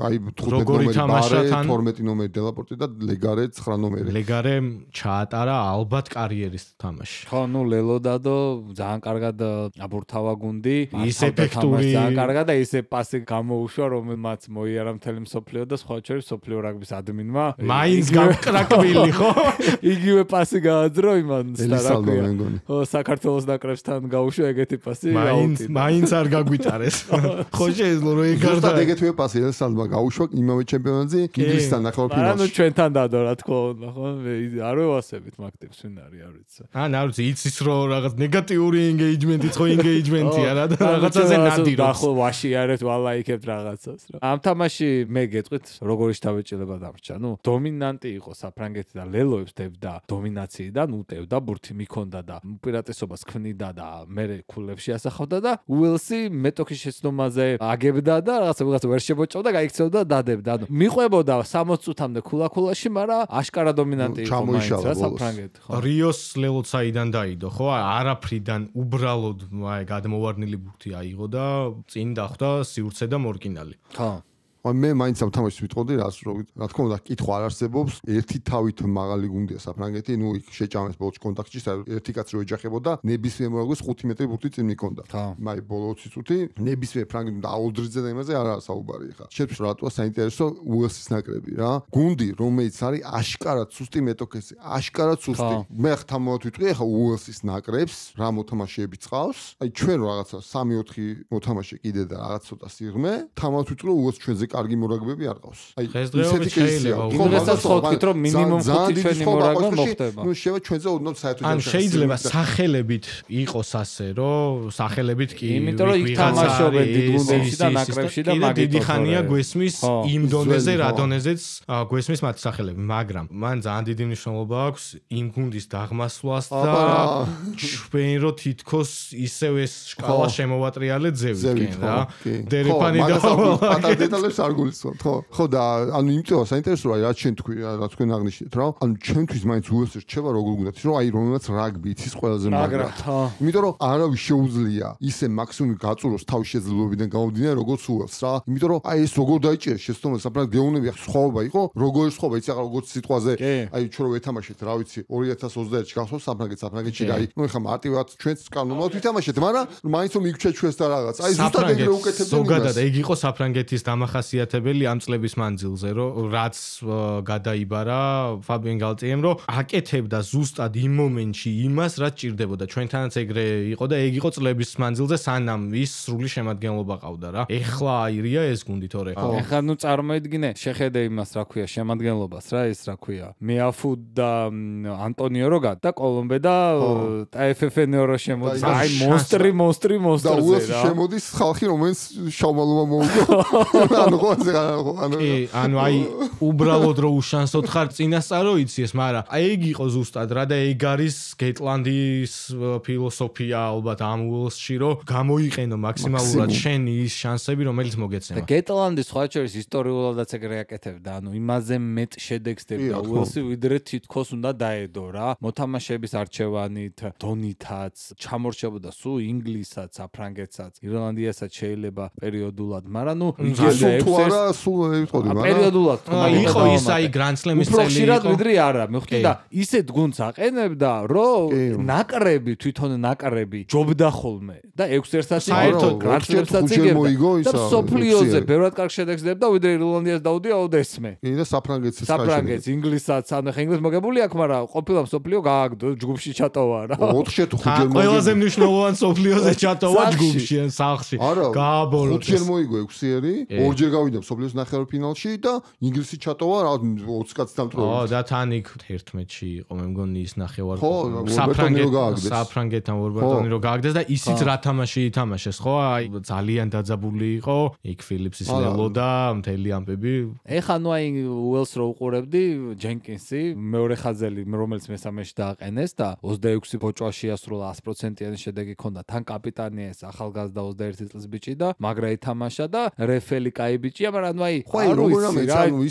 აი 15 ნომერი ბარე, 12 ნომერი დელაპორტი და ლეგარე 9 ნომერი. ლეგარე ჩაატარა ალბათ კარიერის თამაში. ხო, ნუ ლელო დადო ძალიან კარგად აბურთავა გუნდი, ის ეფექტური ძალიან კარგად და ისე პასი გამოუშვა, რომელმაც მოიარა მთელი მსოფლიო და სხვა შორის მსოფლიო რაგბის ადმინმა. მაინც გამკრაკბილი ხო? იგივე პასი გააძრო იმან სტარაკია. ხო, საქართველოს ნაკრებსთან გაუშვა ეგეთი პასი. მაინც არ გაგვიტარეს. ხო შეეძლო რომ ეგარდა. ზუსტად ეგეთივე პასი ესალმა გაუშვა იმავე ჩემპიონატზე ინგლისთან ნახევარფინალში. ანუ ჩვენთან დადო რა თქმა უნდა, ხო? არ ვევასებით მაგ ტიპს ვინ არის, არ ვიცი. არ ვიცი, იცის რომ რაღაც ნეგატიური ინგეიჯმენტი, ხო ინგეიჯმენტია რა და რაღაცაზე ნადირობს. ახლა ვაშიარებთ, ვალაიქებთ რაღაცას რა. ამ თამაში მე გეტყვით, როგორი შთაბეჭდილება დამრჩა. ნუ დომინანტი იყო საფრანგეთი და ლელოებს დებდა დომინაციიდან, უტევდა, ბურთი მიქონდა და უპირატესობას ქმნიდა და მერე ქულებში ასახავდა და უელსი მეტოქის შეცდომაზე აგებდა და რაღაცა ვერ შემოჭავდა, გაიქცეოდა და დადებდა. ანუ მიყვებოდა 60 წუთამდე ქულაში, მაგრამ აშკარა დომინანტი იყო მაინც რა საფრანგეთი, ხო. რიოს ლელო საიდან დაიდო, ხო? არაფრიდან უბრალოდ გადმოვარდნილი ბურთი აიღო და წინ დახვდა სივრცე და მორკინალი. ხო. მე მაინც ამ თამაშს ვიტყოდი რას რა თქმა უნდა კითხვა არ არსებობს ერთი თავით მაღალი გუნდია საფრანგეთი ნუ იქ შეჭამეს ბოლოს კონტაქტში ერთი კაცი რო ეჯახებოდა ნებისმიერ მოგოს 5 მეტრი ბურთი წინ მიქონდა მაი ბოლო 20 წუთი ნებისმიერ ფრანგეთს და აუდრიძე და იმაზე არა საუბარი ხა შეფს რატოა საინტერესო უელსის ნაკრები რა გუნდი რომელიც არის აშკარად სუსტი მეტოქესი აშკარად სუსტი მე ხთამოთ ვიტყვი ხა უელსის ნაკრებს რა მოთამაშეები წავს აი ჩვენ რაღაცა 3-4 მოთამაშე კიდე და რაღაც ცოტა სიღრმე თამათ ვიტყვი უელს ჩვენზე კარგი მორაგბები არ ყავს აი ესეთი შეიძლება იმასაც ხოვთ რომ მინიმუმ 5 ჩვენი მორაგბა მოხდება ნუ შევა ჩვენზე ოდნავ საერთოდ ან შეიძლება სახელებით იყოს ასე რომ სახელებით კი იმიტომ რომ იქ თამაშობენ დიდ გუნდებში და ნაკრებში და მაგით დიდი ხანია გვესმის იმ დონეზე რა დონეზეც გვესმის მათი სახელები მაგრამ მან ძალიან დიდი მნიშვნელობა აქვს იმ გუნდის დაღმასვლას და ჩვენ რო თითქოს ისევ ეს შკალა შემოვატრიალეთ ზევით რა დერეფანი და პატარ დეტალებს არ გულისხმობთ ხო და ანუ იმიტომ საინტერესოა რა ჩვენ თქვი რა თქვენ აღნიშნეთ რა ანუ ჩვენთვის მაინც უელსი რჩება როგორ გუნდათ რომ აი რომელსაც რაგბი იცის ყველაზე მაგრად იმიტომ რომ არავის შეუძლია ისე მაქსიმუმი გაწუროს თავის შეძლებლობიდან გამომდინარე როგორც უელს რა იმიტომ რომ აი ეს როგორ დაიჭერეს შეცდომა საფრანგეთ გეუნები სხვაობა იყო როგორი სხვაობა იცი ახლა როგორც სიტყვაზე აი ჩვენ რო ვეთამაშეთ რა ვიცი 2021-ში გახსოვს საფრანგეთში და აი ნუ ეხლა მარტივად ჩვენც კანონად ვითამაშეთ მაგრამ მაინც რომ იქჩა ჩვენს და რაღაც აი ზუსტად ეგრე უკეთებდნენ ზოგადად ეგ იყო საფრანგეთის დამახასიათებელი ამ წლების მანძილზე რომ რაც გადაიბარა ფაბიენ გალტიემ რომ აკეთებდა ზუსტად იმ მომენტში იმას რაც ჭირდებოდა ჩვენთანაც ეგრე იყო და ეგ იყო წლების მანძილზე სანამ ის სრული შემადგენლობა ყავდა რა ეხლა აირია ეს გუნდი თორე ეხლა ნუ წარმოიდგინე შეხედე იმას რა ქვია შემადგენლობას რა ეს რა ქვია მეაფუ და ანტონიო როგა და კოლომბე და ტაეფეფენეო რო შემოდის აი მონსტრი და უელსი შემოდის ხალხი რომელიც შავმალობა მოუგო ანუ აი უბრალოდ რო უშანსოთ ხარ წინასწარო იცი ეს მაგრამ აი ეგ იყო ზუსტად რა და ეგ არის გეტლანდის ფილოსოფია ალბათ ამ უელსში რომ გამოიყენო მაქსიმალურად შენი ის შანსები რომელიც მოგეცემა და გეტლანდი სხვა შორის ისტორიულადაც ეგრე აკეთებდა ანუ იმაზე მეტ შედეგს დებდა უელსი ვიდრე თითქოს უნდა დაედო რა მოთამაშეების არჩევანით დონითაც ჩამორჩებოდა სულ ინგლისსაც საფრანგეთსაც ირლანდიასაც შეიძლება პერიოდულად მაგრამ ნუ პერიოდულად იყო ის აი გრანდსლემის წელი იყო ვიდრე არა მეხუთი და ისეთ გუნდს აყენებდა რომ ნაკრები თვითონ ნაკრები ჯობდა ხოლმე და 6-1-ად საერთოდ გრანდსლემსაც იგებდა და სოფლიოზე ბევრად კარგ შედეგს დებდა ვიდრე ირლანდიას დაუდია ოდესმე და საფრანგეთს ინგლისსაც ანუ ხა ინგლისს მოგებული აქვს მაგრამ ყოფილა სოფლიო გააგდო ჯგუფში ჩატოვა რა 4-5 ჯერ ყველაზე მნიშვნელოვანი სოფლიოზე ჩატოვა ჯგუფში ან სახლში გააბოლო 5 ჯერ მოიგო 6-ერი ორჯერ გავიდა სოფლიოს ნახევარფინალში და ინგლისი ჩატოვა რა 20 კაცი დამტროებით და თან იქ 11-ში იყო მე მგონი ის ნახევარ საფრანგეთთან ვორბატონი რო გააგდეს და ისიც რა თამაში ითამაშეს ხო აი ძალიან დაძაბული იყო იქ ფილიპსის ლელო და მთელი ამბები ეხა ნუ აი უელს რო უყურებდი ჯენკინსი მეორე ხაზელი რომელიც მესამეში დააყენეს და 26 ბოჭვა შეასრულა 100%-იანი შედეგი ჰქონდა თან კაპიტანია ეს ახალგაზრდა 21 წლის ბიჭი და მაგრა ითამაშა და რეფელი კაი ბიჭია მაგრამ ნუ აი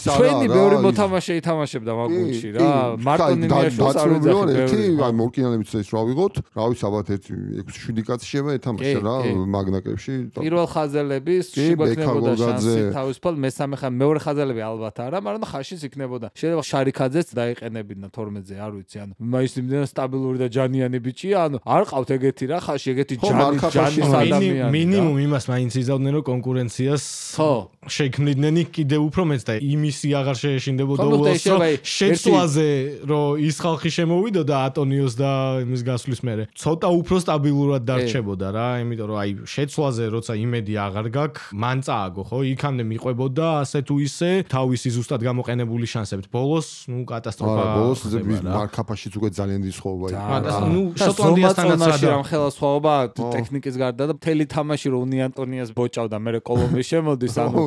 ჩვენი ბევრი მოთამაშე ითამაშებდა მაგ გუნდში რა მარტონინიაშვილს არ ვიძახი აი მორკინანებიც ეს რა ვიღოთ რა ვიცი ალბათ 6-7 კაცი შევა ეთამაშა რა მაგნაკებში პირველ ხაზელების შეგვექნებოდა შანსი თავისუფალ მესამე მეორე ხაზელები ალბათ არა მაგრამ ხაშიც იქნებოდა შეიძლება შარიქაძეც დაიყენებინა 12-ზე არ ვიცი ანუ მაინც იმდენ სტაბილური და ჯანიანი ბიჭია ანუ არ ყავთ ეგეთი რა ხაში ეგეთი ჯანის ადამიანი მინიმუმ იმას მაინც იზავდნენ რომ კონკურენციას შექმნიდნენ კიდე უფრო მეც და იმისი აღარ შეეშინდებოდა უელსს შეცვლაზე რომ ის ხალხი შემოვიდოდა ატონიოს და იმის გასვლის მერე ცოტა უფრო სტაბილურად დარჩებოდა რა იმიტომ რომ აი შეცვლაზე როცა იმედი აღარ გაქვს მან წააგო ხო იქამდე მიყვებოდა ასე თუ ისე თავისი ზუსტად გამოყენებული შანსებით ბოლოს ნუ კატასტროფა ბოლოს მარკაფაშიც უკვე ძალიან დიდი სხვაობა იყო ნუ შოტლანდიასთანაც რამ ხელა სხვაობა ტექნიკის გარდა და მთელი თამაში რომ უნი ანტონიას ბოჭავდა მე კოლომბი შემოდის ანუ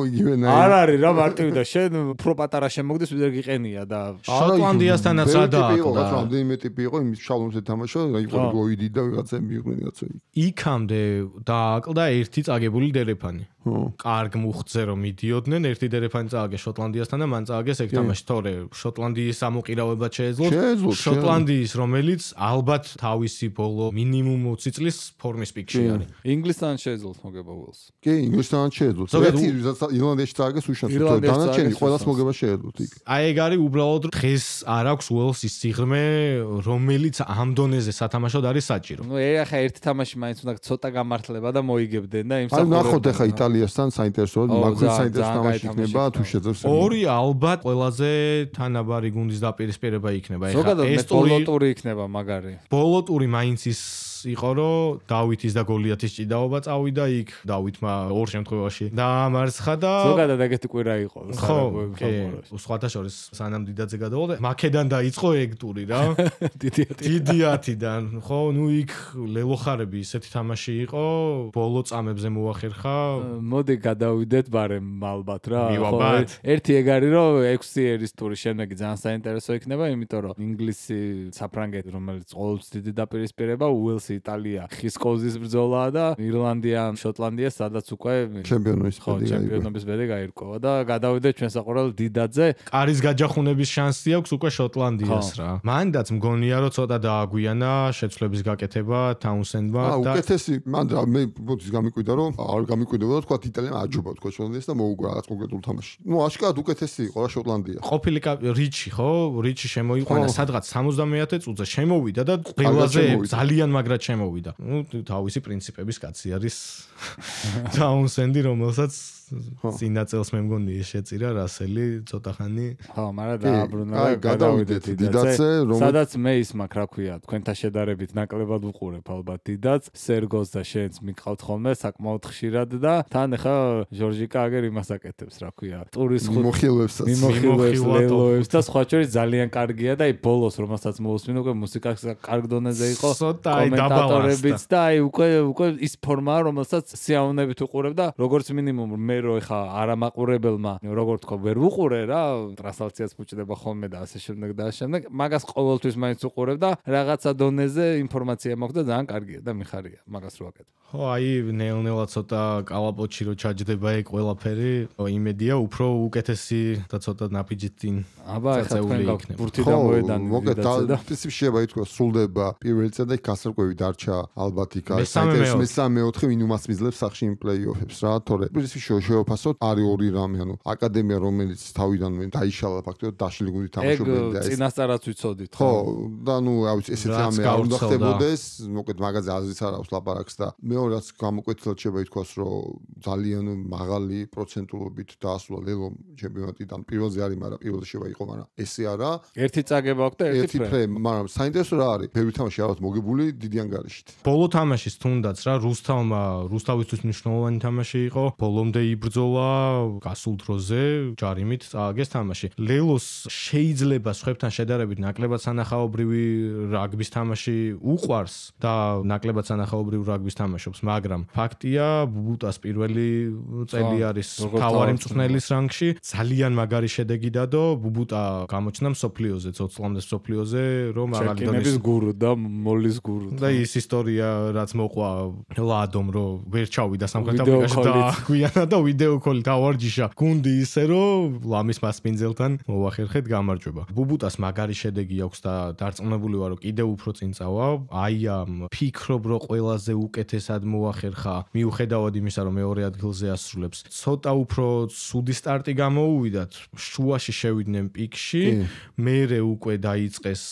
არ არის რა მარტივი და შენ უფრო პატარა შემოგდეს ვიდრე გიყენია და შოტლანდიასთანაც რა დააყდა რამდენიმე ტიპი იყო იმის შალომზე თამაშა იყო გოიდი და ვიღაცები მიიღნენ რაღაცა იქამდე დააყდა ერთი წაგებული დერეფანი კარგ მუხტზე რომ მიდიოდნენ ერთი დერეფანი წააგეს შოტლანდიასთან და მან წააგეს ეგ თამაში თორე შოტლანდიის ამოყირავება შეეძლო შოტლანდიის რომელიც ალბათ თავისი ბოლო მინიმუმ 20 წლის ფორმის პიკში არის ინგლისთან შეეძლოთ მოგება უელს კი ინგლისთან შეეძლოთ ირლანდიაში წააგეს უშანსო დანარჩენი ყველას მოგება შეეძლოთ იქ აი ეგ არის უბრალოდ დღეს არ აქვს უელსის სიღრმე რომელიც ამ დონეზე სათამაშოდ არის საჭირო ნუ ახლა ერთი თამაში მაინც უნდა ცოტა გამართლება და მოიგებდნენ და იმ აი ნახოთ ახლა იტალიასთან საინტერესოა მაგრამ საინტერესო თამაში იქნება თუ შეძლებს ორი ალბათ ყველაზე თანაბარი გუნდის დაპირისპირება იქნება ახლა ეს ბოლოტური იქნება მაგარი ბოლოტური მაინც ის იყო რომ დავითის და გოლიათის ჭიდაობა წავიდა იქ დავითმა ორ შემთხვევაში დაამარცხა და ზოგადად ეგეთი კვირა იყო ხო სხვათა შორის სანამ დიდაძე გადავიდა მაკედან დაიწყო ეგ ტური რა დიდიათიდან ხო ნუ იქ ლელოხარები ისეთი თამაში იყო ბოლო წამებზე მოახერხა მოდი გადავიდეთ ბარემ ალბათ რა ერთი ეგ არის რომ 6 ერის ტურის შემდეგი ძალიან საინტერესო იქნება იმიტომ რომ ინგლისი საფრანგეთი რომელიც ყოველთვის დიდი დაპირისპირება უელსი იტალია ხის კოზის ბრძოლაა და ირლანდია შოტლანდია სადაც უკვე ჩემპიონობის ბედი გაირკვევა და გადავიდეთ ჩვენ საყურებელ დიდაძე კარის გაჯახუნების შანსი აქვს უკვე შოტლანდიას რა მანდაც მგონია რომ ცოტა დააგვიანა შეცვლების გაკეთება თაუნსენდმა და უკეთესი მან მე ბოდის გამიკვირდა რომ არ გამიკვირდა თქვა იტალიამ აჯობა თქვა შოტლანდიას და მოუგრა რაღაც კონკრეტულ თამაში ნუ აშკარად უკეთესი იყო რა შოტლანდია ყოფილი რიჩი ხო რიჩი შემოიყვანა სადღაც 70-ე წუთზე შემოვიდა და ყველაზე ძალიან მაგრად შემოვიდა. ნუ თავისი პრინციპების კაცი არის თაუნსენდი, რომელსაც წინაწელს მე მგონი შეწირა რასელი ცოტა ხანი. ხო, მაგრამ დააბრუნა და გადავიდეთ დიდაცე, სადაც მე ის მაქვს, რა ქვია, თქვენთან შედარებით ნაკლებად უყურებ ალბათ დიდაც, სერგოს და შენს მიყავთ ხოლმე საკმაოდ ხშირად და თან ახლა ჟორჟიკა აგერ იმას აკეთებს, რა ქვია, ტურის მიმოხილვებს ლელოებს და სხვა შორის ძალიან კარგია და აი ბოლოს რომელსაც მოусმინო უკვე მუსიკა კარგ დონეზე იყო კომენტატორებიც და აი უკვე ის ფორმაა რომელსაც სიამოვნებით უყურებ და როგორც მინიმუმ მე რო ხა არამაყურებელმა როგორ თქვა ვერ უყურე რა ტრანსლაციას ფუჭდება ხოლმე და ასე შემდეგ და ასე შემდეგ მაგას ყოველთვის მაინც უყურებ და რაღაცა დონეზე ინფორმაცია მაქვს და ძალიან კარგია და მიხარია მაგას რო აკეთებ ხო აი ნელ-ნელა ცოტა კალაპოტში რო ჩაჯდება ეგ ყველაფერი იმედია უფრო უკეთესი და ცოტა ნაფიჯით წინ აბა ხა თქვენ გაქვთ ბურთი და მოედანი მოგეთ და პრინციპში შეიძლება ითქვა სრულდება პირველი წა და გასარკვევი დარჩა ალბათ იქ საინტერესო მესამე-4 ვინუმას მიძლებს სახში იმ პლეიოფებს რა თორე პრინციპში შევაფასოთ არის ორი რამე ანუ აკადემია რომელიც თავიდანვე დაიშალა ფაქტობრივად დაშლილი გუნდი თამაშობენ და ეს წინასწარაც ვიცოდით ხო და ნუ რა ვიცი ესეც რამე არ უნდა ხდებოდეს მოკეთ მაგაზე აზრიც არ აქვს ლაპარაკს და მეორეც გამოკვეთილად შეიძლება ითქვას რომ ძალიან მაღალი პროცენტულობით დაასრულა ლელო ჩემპიონატიდან პირველზე არის მაგრამ პირველზე შეიძლება იყო მაგრამ ესე არა ერთი წაგება აქვს და ერთი ფრე მაგრამ საინტერესო რა არის ბევრი თამაში არის მოგებული დიდი ანგარიშით ბოლო თამაშის თუნდაც რა რუსთავისთვის მნიშვნელოვანი თამაში იყო ბოლომდე იბრძოლა გასულ დროზე ჯარიმით წააგეს თამაში ლელოს შეიძლება სხვებთან შედარებით ნაკლებად სანახაობრივი რაგბის თამაში უყვარს და ნაკლებად სანახაობრივი რაგბის თამაშობს მაგრამ ფაქტია ბუბუტას პირველი წელი არის თავარი მწვრთნელის რანგში ძალიან მაგარი შედეგი დადო ბუბუტა გამოჩნდა მსოფლიოზე ცოცხლამდე მსოფლიოზე რომ მაგალითად გურუ და მოლის გურუ და ის ისტორია რაც მოყვა ლადომ რომ ვერ ჩავიდა სამხრეთ აფრიკაში და გვიანა და ვიდეო კოლით ავარჯიშა გუნდი ისე რომ ლამის მასპინძელთან მოახერხეთ გამარჯვება ბუბუტას მაგარი შედეგი აქვს და დარწმუნებული ვარ რომ კიდევ უფრო წინ წავა აი ამ ფიქრობ რომ ყველაზე უკეთესად მოახერხა მიუხედავად იმისა რომ მეორე ადგილზე ასრულებს ცოტა უფრო ცუდი სტარტი გამოუვიდათ შუაში შევიდნენ პიკში მერე უკვე დაიწყეს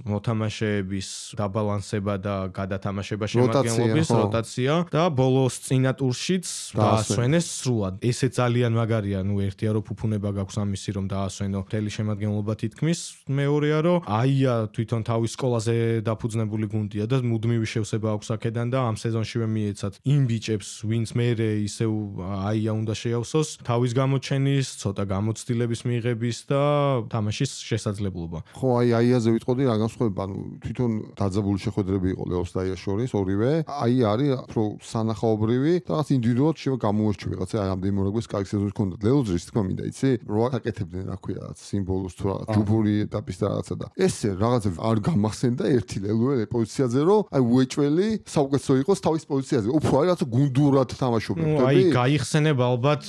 მოთამაშეების დაბალანსება და გადათამაშება შემადგენლობის როტაცია და ბოლოს წინა ტურშიც დაასვენეს სრულად. ესე ძალიან მაგარია, ნუ ერთია რომ ფუფუნება გაქვს ამისი რომ დაასვენო მთელი შემადგენლობა თითქმის, მეორეა რომ აია თვითონ თავის სკოლაზე დაფუძნებული გუნდია და მუდმივი შევსება აქვს აქედან და ამ სეზონშივე მიეცათ იმ ბიჭებს, ვინც მერე ისევ აია უნდა შეავსოს თავის გამოჩენის, ცოტა გამოცდილების მიღების და თამაშის შესაძლებლობა. ხო, აიაზე ვიტყოდი რა განსხვავება, ანუ თვითონ დაძაბული შეხვედრები იყო ლეოს და აიას შორის ორივე. აი არის უფრო სანახაობრივი და რაღაც ინდივიდუალურად შევა გამოურჩევი რაღაცა აი ამდენი მორაგვის კარგი სეზონი ჰქონდა. ლეოძრის თქმა მინდა იცი, რა აკეთებდნენ რა ქვია რაღაც სიმბოლოს თუ რაღაც ჯუბური ეტაპის და რაღაცა და ესე რაღაცა არ გამახსენდა ერთი ლელოე პოზიციაზე რომ აი უეჭველი საუკეთესო იყოს თავის პოზიციაზე. უფრო აი რაღაცა გუნდურად თამაშობენ. აი გაიხსენებ ალბათ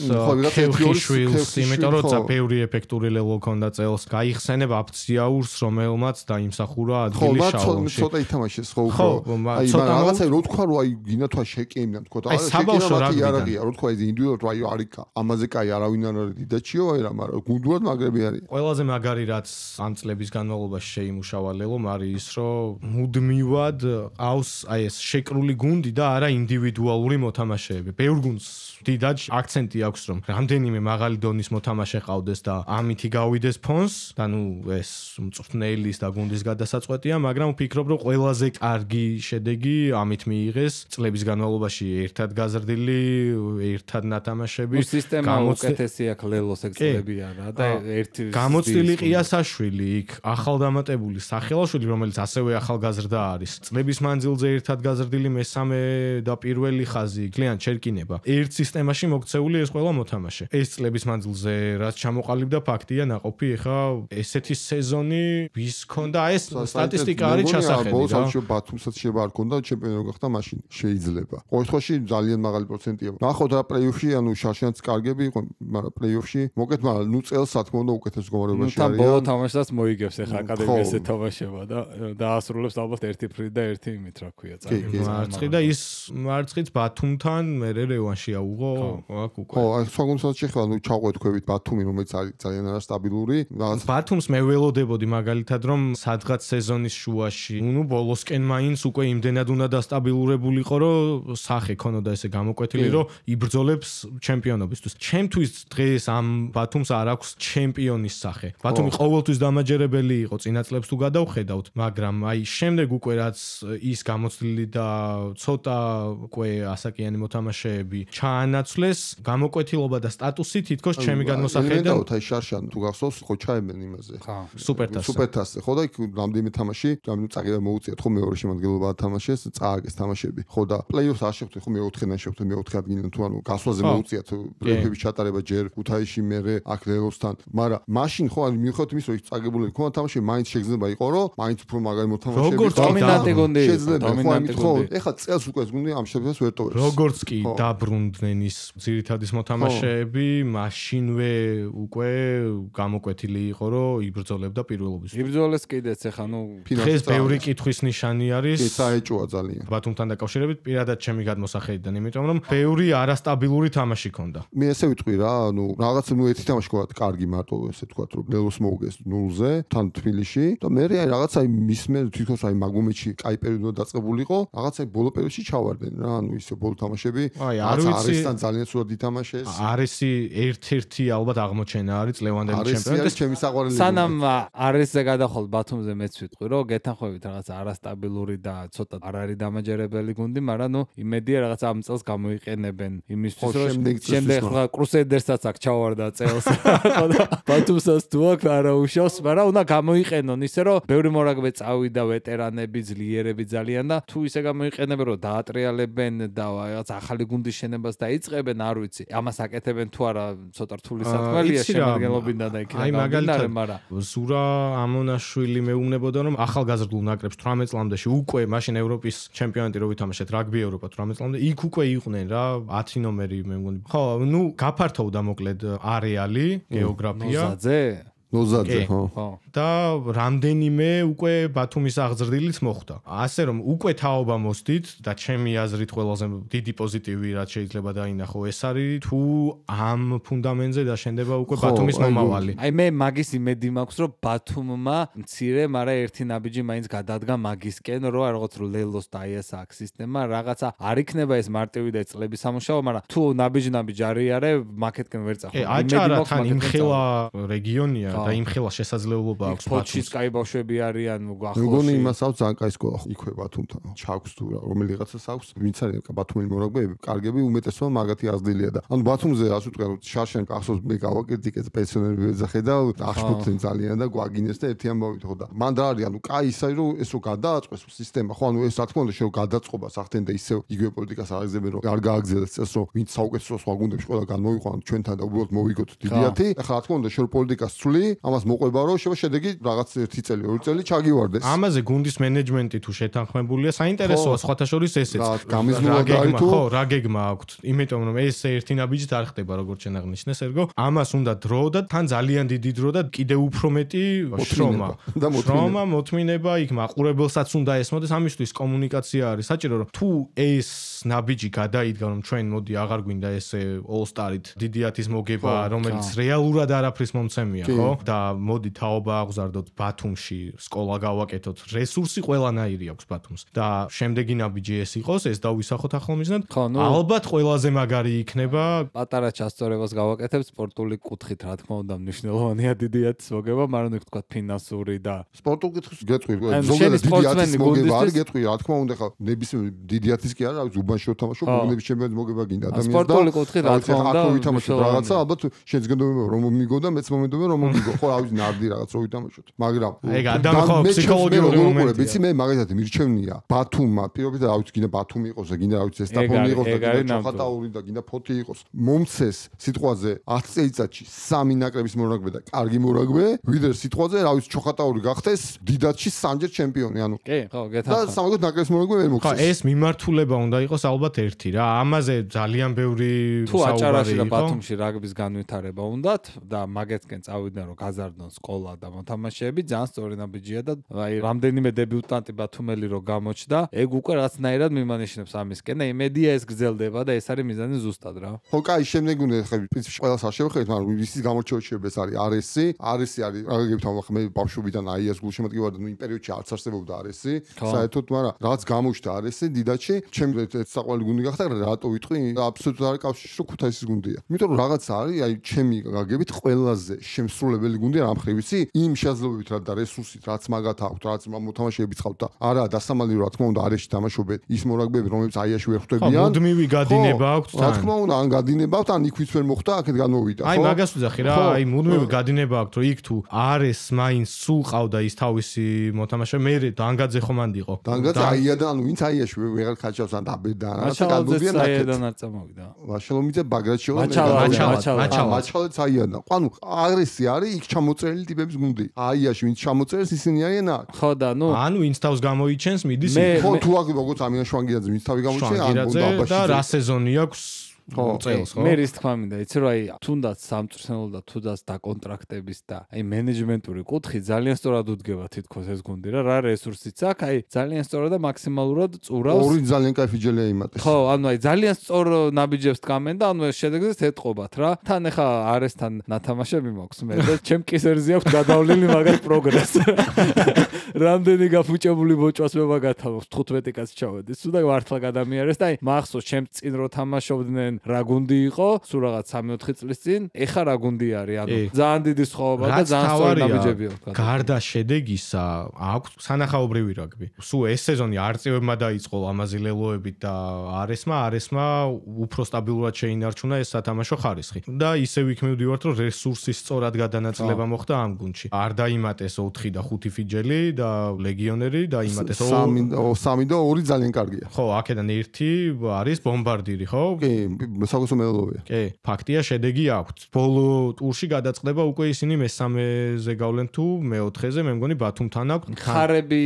ქევხიშვილს, იმიტომ რომ ძაფეური ეფექტური ლელო ჰქონდა წელს. გაიხსენებ აფციაურს, რომელმაც და იმ დაიმსახურა ადგილი შალომში. ხო, ცოტა ითამაშეს ხო უფრო. აი, რაღაცა რო თქვა რომ აი გინათვა შეკეიმნან თქო და აი საბავშვო რაგბიდან რო თქვა ეს ინდივიდუალურად აი არიქა. ამაზე კაი არავინ არ არის დიდაჩიო აი რა, მაგრამ გუნდურად მაგრები არის. ყველაზე მაგარი რაც ამ წლების განმავლობაში შეიმუშავა ლელომ არის ის რომ მუდმივად ყავს აი ეს შეკრული გუნდი და არა ინდივიდუალური მოთამაშეები. ბევრ გუნდს დიდად აქცენტი აქვს რომ რამდენიმე მაღალი დონის მოთამაშე ყავდეს და ამითი გავიდეს ფონს და ნუ ეს მწვრთნელის და გუნდის გადასაწყვეტია, მაგრამ ვფიქრობ რომ ყველაზე კარგი შედეგი ამით მიიღეს წლების განმავლობაში ერთად გაზრდილი, ერთად ნათამაშები. სისტემა უკეთესი აქვს ლელოს ეგ წლები არა და ერთი გამოცდილი ყიასაშვილი იქ ახალდამატებული სახელაშვილი რომელიც ასევე ახალგაზრდა არის. წლების მანძილზე ერთად გაზრდილი მესამე და პირველი ხაზი კლიენტ ჩერკინება. ერთ სისტემაში მოქცეული ეს ყველა მოთამაშე. ეს წლების მანძილზე რაც ჩამოყალიბდა ფაქტია ნაყოფი ეხა ესეთი სეზონი ვის ქონდა ეს სტატისტიკა არის ჩასახედი რა. ბოლოს ბათუმსაც შევა არ ქონდა ჩემპიონი რო გახდა მაშინ შეიძლება. ყოველ შემთხვევაში ძალიან მაღალი პროცენტია. ნახოთ რა პლეიოფში ანუ შაშიანც კარგები იყო, მაგრამ პლეიოფში მოკეთ, მაგრამ ნუ წელს რა თქმა უნდა უკეთეს მდგომარეობაში არიან. ბოლო თამაშსაც მოიგებს ეხა აკადემიაზე თამაშება და დაასრულებს ალბათ ერთი ფრით და ერთი იმით რა ქვია წაგები. მარცხი და ის მარცხიც ბათუმთან მე რევანში აუღო აქ უკვე. ხო, აი სხვა გუნდსაც შეხება, ნუ ჩავყვეთქვებით ბათუმი რომელიც არის ძალიან არასტაბილური. ბათუმს მე ველოდებოდი მაგალითად რომ სადღაც სეზონის შუაში, ნუ ბოლოსკენ მაინც უკვე იმდენად უნდა დასტაბილურებულიყო რომ სახე ქონოდა ესე გამოკვეთილი რომ იბრძოლებს ჩემპიონობისთვის. ჩემთვის დღეს ამ ბათუმს არ აქვს ჩემპიონის სახე. ბათუმი ყოველთვის დამაჯერებელი იყო წინა წლებს თუ გადავხედავთ, მაგრამ აი შემდეგ უკვე რაც ის გამოცდილი და ცოტა უკვე ასაკიანი მოთამაშეები ჩაანაცვლეს, გამოკვეთილობა და სტატუსი თითქოს ჩემი გადმოსახედიდან აი შარშან თუ გახსოვს ხო ჩაებენ იმაზე. სუპერთასზე ხო და იქ რამდენიმე თამაში, ნუ წაგება მოუწიათ ხო მეორე შემადგენლობა ათამაშეს, წააგეს თამაშები. ხო და პლეიოფს არ შეხვდეთ ხო მეოთხედან შეხვდეთ მეოთხე ადგილიდან თუ ანუ გასვლაზე მოუწიათ პლეიოფების ჩატარება ჯერ ქუთაისში მერე აქ ლელოსთან, მაგრამ მაშინ ხო ანუ მიუხედავად იმის რომ წაგებული ქონდა თამაში, მაინც შეგრძნება იყო რომ მაინც უფრო მაგარი მოთამაშეები როგორც დომინანტი გუნდი ხო ეხლა წელს უკვე გუნდი ამ შეფასებას ვერ ტოვებს. როგორც კი დაბრუნდნენ ის ძირითადის მოთამაშეები, მაშინვე უკვე გამოკვეთილი იყო რომ იბრძოლებდა პირველობის. იბრძოლეს კიდეც ეხა ნუ დღეს ბევრი კითხვის ნიშანი არის. კი საეჭოა ძალიან. ბათუმთან დაკავშირებით პირადად ჩემი გადმოსახედიდან, იმიტომ რომ ბევრი არასტაბილური თამაში ქონდა. მე ესე ვიტყვი რა, ნუ რაღაც ნუ ერთი თამაში ქონდა კარგი მარტო ესე თქვა რომ ლელოს მოუგეს 0-ზე თან თბილისში და მე აი რაღაცა მისმე თვითონს აი მაგომეთში კაი პერიოდი დაწყებულიყო, რაღაცა ბოლო პერიოდში ჩავარდნენ რა, ანუ ისე ბოლო თამაშები. აი არ ვიცი არესთან ძალიან სულად ითამაშეს. არესი ერთ-ერთი ალბათ აღმოჩენა არის ლევანდელი ჩემპიონი. არის ჩემი საყვარელი. სანამ არესზე გადახვალ ბათუმზე მეც ვიტყვი რომ გეთანხმებით რაღაც არასტაბილური და ცოტა არ არის დამაჯერებელი გუნდი, მაგრამ ნუ იმედია რაღაც ამ წელს გამოიყენებენ იმისთვის რომ შემდეგ ხა კრუსედერსაც აქ ჩავარდა წელს. ხო და ბათუმსაც თუ აქ არა უშავს, მაგრამ უნდა გამოიყენონ ისე რომ ბევრი მორაგბე წავიდა ვეტერანები, ძლიერები ძალიან და თუ ისე გამოიყენებენ რომ დაატრიალებენ და რაღაც ახალი გუნდის შენებას დაიწყებენ, არ ვიცი. ამას აკეთებენ თუ არა ცოტა რთული საქმეა შემადგენლობიდან და იქიდან. აი მაგალითად ზურა ამონაშვილი მეუბნებოდა რომ ახალგაზრდულ ნაკრებს 18 წლამდეში უკვე მაშინ ევროპის ჩემპიონატი რო ვითამაშეთ რაგბი ევროპა 18 წლამდე იქ უკვე იყვნენ რა 10 ნომერი მე მგონი. ხო, ნუ გაფართოვდა მოკლედ არეალი, გეოგრაფია. ნოზაძე ხო. და რამდენიმე უკვე ბათუმის აღზრდილიც მოხდა. ასე რომ უკვე თაობა მოსდით და ჩემი აზრით ყველაზე დიდი პოზიტივი რაც შეიძლება დაინახო ეს არის თუ ამ ფუნდამენტზე დაშენდება უკვე ბათუმის მომავალი. აი მე მაგის იმედი მაქვს რომ ბათუმმა მცირე, მაგრამ ერთი ნაბიჯი მაინც გადადგა მაგისკენ რომ რაღაც რო ლელოს და აი ეს აქ სისტემა რაღაცა არ იქნება ეს მარტივი და წლების სამუშაო, მაგრამ თუ ნაბიჯი არიარე მაკეთკენ ვერ წახვალ. აჭარა თან იმხელა რეგიონია და იმხელა შესაძლებლობა აქვს ბათუმის კაი ბავშვები არიან გახლოში. მეგონი იმას აქვს ძალიან კაი სკოლა იქვე ბათუმთან. ჩაქვს თუ რომელიღაცას აქვს, ვინც არის ბათუმელი მორაგბეები, კარგები უმეტესობა მაგათი აზრდილია და ანუ ბათუმზე ასე ვთქვა რომ შარშენ ახსოვს მე გავაკეთე პენსიონერები ეძახე და აღშფოთდნენ ძალიან და გვაგინეს და ერთი ამბავით ხო და მან რა არის ანუ კაი ის არის რომ ეს რო გადააწყვეს სისტემა ხო ანუ ეს რა თქმა უნდა შენ გადაწყობას ახდენ და ისევ იგივე პოლიტიკას აღიზებენ რომ არ გააგზელეს წელს რომ ვინც საუკეთესო სხვა გუნდებში ყველა განმოვიყვანოთ ჩვენთან და უბრალოდ მოვიგოთ დიდიათი. ახლა რა თქმა უნდა შენ პოლიტიკას ცვლი ამას მოყვება რომ შედეგი რაღაც 1 წელი 2 წელი ჩაგივარდეს. ამაზე გუნდის მენეჯმენტი თუ შეთანხმებულია, საინტერესოა სხვათა შორის ესეც. ხო, რა გეგმა აქვთ. იმიტომ რომ ეს ერთი ნაბიჯით არ ხდება როგორც შენ აღნიშნე სერგო. ამას უნდა დრო და თან ძალიან დიდი დრო და კიდევ უფრო მეტი შრომა, მოთმინება, იქ მაყურებელსაც უნდა ესმოდეს, ამისთვის კომუნიკაცია არის საჭირო, რომ თუ ეს ნაბიჯი გადაიდგა, რომ ჩვენ მოდი აღარ გვინდა ესე All-Star-ით დიდი 10-ის მოგება, რომელიც რეალურად არაფრის მომცემია, ხო? და მოდი თაობა აღზარდოთ ბათუმში, სკოლა გავაკეთოთ, რესურსი ყველანაირი აქვს ბათუმს. და შემდეგი ნაბიჯი ეს იყოს, ეს დავისახოთ ახალმიზნად. ალბათ ყველაზე მაგარი იქნება. პატარა ჩასწორებას გავაკეთებ სპორტული კუთხით, რა თქმა უნდა, მნიშვნელოვანია დიდი 10-ის მოგება, მაგრამ იქ თქვა ფინანსური და სპორტული კუთხით გეტყვი, ზოგადად დიდი 10-ის მოგება არის გეტყვი, რა თქმა უნდა, ხა ნებისმიერ დიდი 10-ის კი არა, უბანში ვთამაშობ, გუნდების ჩემპიონატის მოგება გინდა ადამიანს და სპორტული კუთხით რა თქმა უნდა, ვითამაშოთ რაღაცა, ალბათ შენს გენდობება რომ მიგო და მეც მომედობა რომ მოგიგო, ხო, რავი, ნარდი რაღაც რო ვითამაშოთ. მაგრამ ეგ ადამიანი ხო ფსიქოლოგიური მომენტია. ვიცი მე მაგალითად მირჩევნია ბათუმმა, პირობით რავი, გინდა ბათუმი იყოს და გინდა რავი, ზესტაფონი იყოს და გინდა ჩოხატაური და გინდა ფოთი იყოს. მომცეს სიტყვაზე 10 წელიწადში 3 ნაკრების მორაგბე და კარგი მორაგბე, ვიდრე სიტყვაზე რავი, ჩოხატაური გახდეს დიდათში 3-ჯერ ჩემპიონი, ანუ კი, ხო, გეთახა. და სამაგოთ ნაკრების მორაგბე ვერ მოგცეს. ხო, ეს მიმართულება უნდა იყოს ალბათ ერთი რა. ამაზე ძალიან ბევრი თუ აჭარაში და ბათუმში რაგბის განვითარება უნდათ და მაგეთკენ წავიდნენ რომ გაზარდონ სკოლა და მოთამაშეები, ძალიან სწორი ნაბიჯია და აი რამდენიმე დებიუტანტი ბათუმელი რო გამოჩნდა, ეგ უკვე რაღაცნაირად მიმანიშნებს ამისკენ და იმედია ეს გრძელდება და ეს არის მიზანი ზუსტად რა. ხო, კაი, შემდეგ უნდა ხე პრინციპში ყველას არ შევხედეთ, მაგრამ ვისის გამოჩვეუჩებს არის RS-ი არის აგებთ ამ მე ბავშვობიდან აიას გულშემატკივარი ვარ და ნუ იმ პერიოდში არც არსებობდა RS-ი, საერთოდ, მაგრამ რაც გამოჩნდა RS-ი დიდათში, ჩემს საყვარელი გუნდი გახდა, რატო ვიტყვი, აბსოლუტურად არ კავშირში რომ ქუთაისის გუნდია. იმიტომ რომ რაღაც არის, აი ჩემი გაგებით ყველაზე შემსრულებელი გუნდი რა მხრივ ვიცი, იმ შესაძლებლობით რა და რესურსით, რაც მაგათ აქვთ, რაც მოთამაშეები ცხავთ და არა დასამალი რა თქმა უნდა RS-ში თამაშობენ ის მორაგბეები, რომლებიც აიაში ვერ ხვდებიან. მუდმივი გადინება აქვთ თან. რა თქმა უნდა, ან გადინება აქვთ, ან იქ ვიც ვერ მოხდა, აქეთ განმოვიდა, ხო? აი მაგას ვძახი რა, აი მუდმივი გადინება აქვთ, რომ იქ თუ RS მაინც სულ ყავდა ის თავისი მოთამაშე, მე დანგაძე ხომ ანდი იყო. დანგაძე აიადან, ანუ ვინც აიაში ვეღარ ხაჭავს ან დაბედან, რაღაცა განმოვიდა აიადან არ წამოვიდა. ვაშალომიძე ბაგრატშოვი მაჩალაც აიადან. ანუ RS-ი არის იქ ჩამოწერილი ტიპების გუნდი. აიაში ვინც ჩამოწერს ისინი არიან აქ. ხო და ნუ ანუ ვინც თავს გამოიჩენს მიდის ხო თუ აქ როგორც ამიან შვანგირაძე ვინც თავი გამოიჩენს ან უნდა აბაში და რა სეზონი აქვს წელს ხო მე რის თქმა მინდა იცი რომ აი თუნდაც სამწვრთნელო და თუნდაც დაკონტრაქტების და აი მენეჯმენტური კუთხი ძალიან სწორად უდგება თითქოს ეს გუნდი რა რესურსიც აქვს აი ძალიან სწორად და მაქსიმალურად წურავს ორი ძალიან кайფი ჯელია იმატეს ხო ანუ აი ძალიან სწორ ნაბიჯებს დგამენ და ანუ ეს შედეგზეც ეთყობათ რა თან ახლა RS-თან ნათამაშები მაქვს მე და ჩემ კისერზე აქვს გადავლილი მაგათ პროგრესი რამდენი გაფუჭებული ბოჭვას მე მაგათ აქვს 15 კაცი ჩავედი სულ და მართლა გადამიარეს და აი მახსოვს ჩემ წინ რო თამაშობდნენ რა გუნდი იყო სულ რაღაც 3-4 წლის წინ ეხა რა გუნდი არის ანუ ძალიან დიდი სხვაობა და ძალიან სწორი ნაბიჯები აქვს გარდა შედეგისა აქვს სანახაობრივი რაგბი სულ ეს სეზონი არწივებმა დაიწყო ამაზილელოებით და RS-მა უფრო სტაბილურად შეინარჩუნა ეს სათამაშო ხარისხი და ისევ იქ მივდივართ რომ რესურსის სწორად გადანაწილება მოხდა ამ გუნდში არ დაიმატეს 4 და 5 ფიჯელი და ლეგიონერი დაიმატეს 3 და 2 ძალიან კარგია ხო აქედან 1 არის ბომბარდირი ხო კი საკუთო მელოდია. კი, ფაქტია, შედეგი აქვს. ბოლო ტურში გადაწყდება უკვე ისინი მესამეზე გავლენ თუ მეოთხეზე, მე მგონი ბათუმთან აქვს. ხარები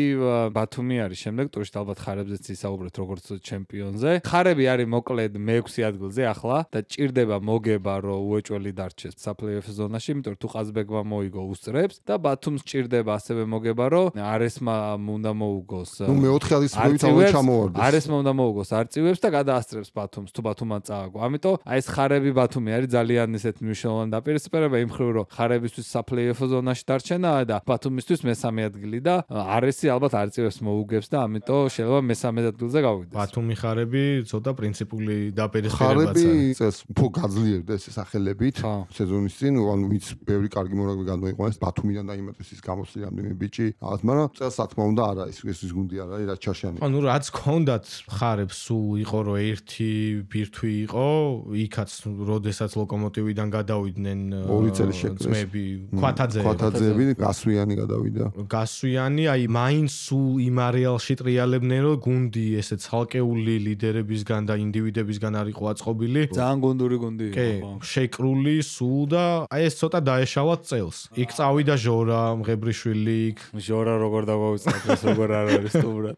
ბათუმი არის შემდეგ ტურში ალბათ ხარებზეც ისაუბრეთ როგორც ჩემპიონზე. ხარები არის მოკლედ მე-6 ადგილზე ახლა და ჭირდება მოგება რომ უეჭველი დარჩეს საპლეიოფ ზონაში, იმიტომ რომ თუ ყაზბეგმა მოიგო უსწრებს და ბათუმს ჭირდება ასევე მოგება რომ RS-მა უნდა მოუგოს. ნუ მე-4 ადგილს მოითავე ჩამოვარდეს. RS-მა უნდა მოუგოს არწივებს და გადაასწრებს ბათუმს თუ ბათუმმა წააგო. ამიტომ აი ეს ხარები ბათუმი არის ძალიან ისეთ მნიშვნელოვანი დაპირისპირება იმ ხრივ რომ ხარებისთვის საპლეიოფ ზონაში დარჩენაა და ბათუმისთვის მესამე ადგილი და RS-ი ალბათ არწივებს მოუგებს და ამიტომ შეიძლება მესამე ადგილზე გავიდეს. ბათუმი ხარები ცოტა პრინციპული დაპირისპირებაა. ხარები წელს უფრო გაძლიერდა ეს სახელებით სეზონის წინ, ანუ ვინც ბევრი კარგი მორაგბე გამოიყვანეს ბათუმიდან დაიმატეს ის გამოსული რამდენიმე ბიჭი, რაღაც, მაგრამ წელს რა თქმა უნდა არა ის გუნდი არ არის რაც ჩაშიანი. ანუ რაც ქონდათ ხარებს სულ იყო რომ ერთი ბირთვი იყო იყო, იქაც როდესაც ლოკომოტივიდან გადავიდნენ ორი წელი შეკრეს. ძმები, ქვათაძეები, გასვიანი გადავიდა. გასვიანი, აი მაინც სულ იმ არეალში ტრიალებდნენ, რომ გუნდი ესე ცალკეული ლიდერებისგან და ინდივიდებისგან არ იყო აწყობილი. ძალიან გუნდური გუნდი იყო. კი, შეკრული სულ და აი ეს ცოტა დაეშალათ წელს. იქ წავიდა ჟორა, მღებრიშვილი, ჟორა როგორ დაგვავიწყოთ, ეს როგორ არ არის სტუმრად.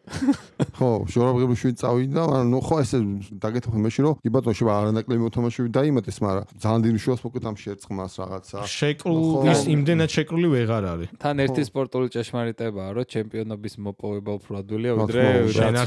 ხო, ჟორა მღებრიშვილი წავიდა, მაგრამ ნუ ხო ესე დაგეთქვი იმაში, რომ კი ბატონო შევა არანაკლები მოთამაშეები დაიმატეს, მაგრამ ძალიან დიდი შუას მოკეთ ამ შერწყმას რაღაცა. შეკრულის იმდენად შეკრული ვეღარ არის. თან ერთი სპორტული ჭეშმარიტებაა, რომ ჩემპიონობის მოპოვება უფრო ადვილია, ვიდრე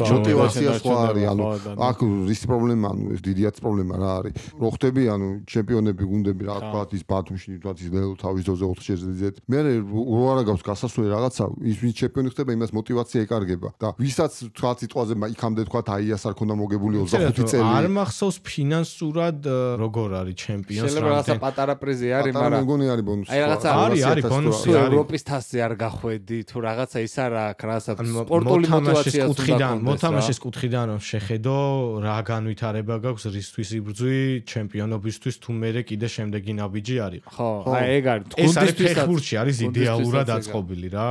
мотивация სხვა არის, ანუ აქ რის პრობლემა, ანუ ეს დიდიაც პრობლემა რა არის. რო ხდები, ანუ ჩემპიონები გუნდები რა თქვა ის ბათუმში, თქვა ის ლელო თავის ძოზე 4 შეძლიძეთ. მე რო არა გაქვს გასასვლელი რაღაცა, ის ვინ ჩემპიონი ხდება, იმას мотивация ეკარგება. და ვისაც თქვა სიტყვაზე იქამდე თქვა აიას არ ქონდა მოგებული 25 წელი. არ მახსოვს ფინანსურად როგორ არის ჩემპიონს შეიძლება რაღაცა პატარა პრიზი არის, მაგრამ მგონი არის ბონუსი. აი რაღაცა არის ბონუსი არის. ევროპის თასზე არ გახვედი, თუ რაღაცა ის არა აქვს, რაღაცა სპორტული мотивация მოთამაშის კუთხიდან რომ შეხედო რა განვითარება გაქვს რისთვის იბრძვი ჩემპიონობისთვის თუ მერე კიდე შემდეგი ნაბიჯი არის. ხო, აი ეგ არის. ეს არის ფეხბურთში არის იდეალურად აწყობილი რა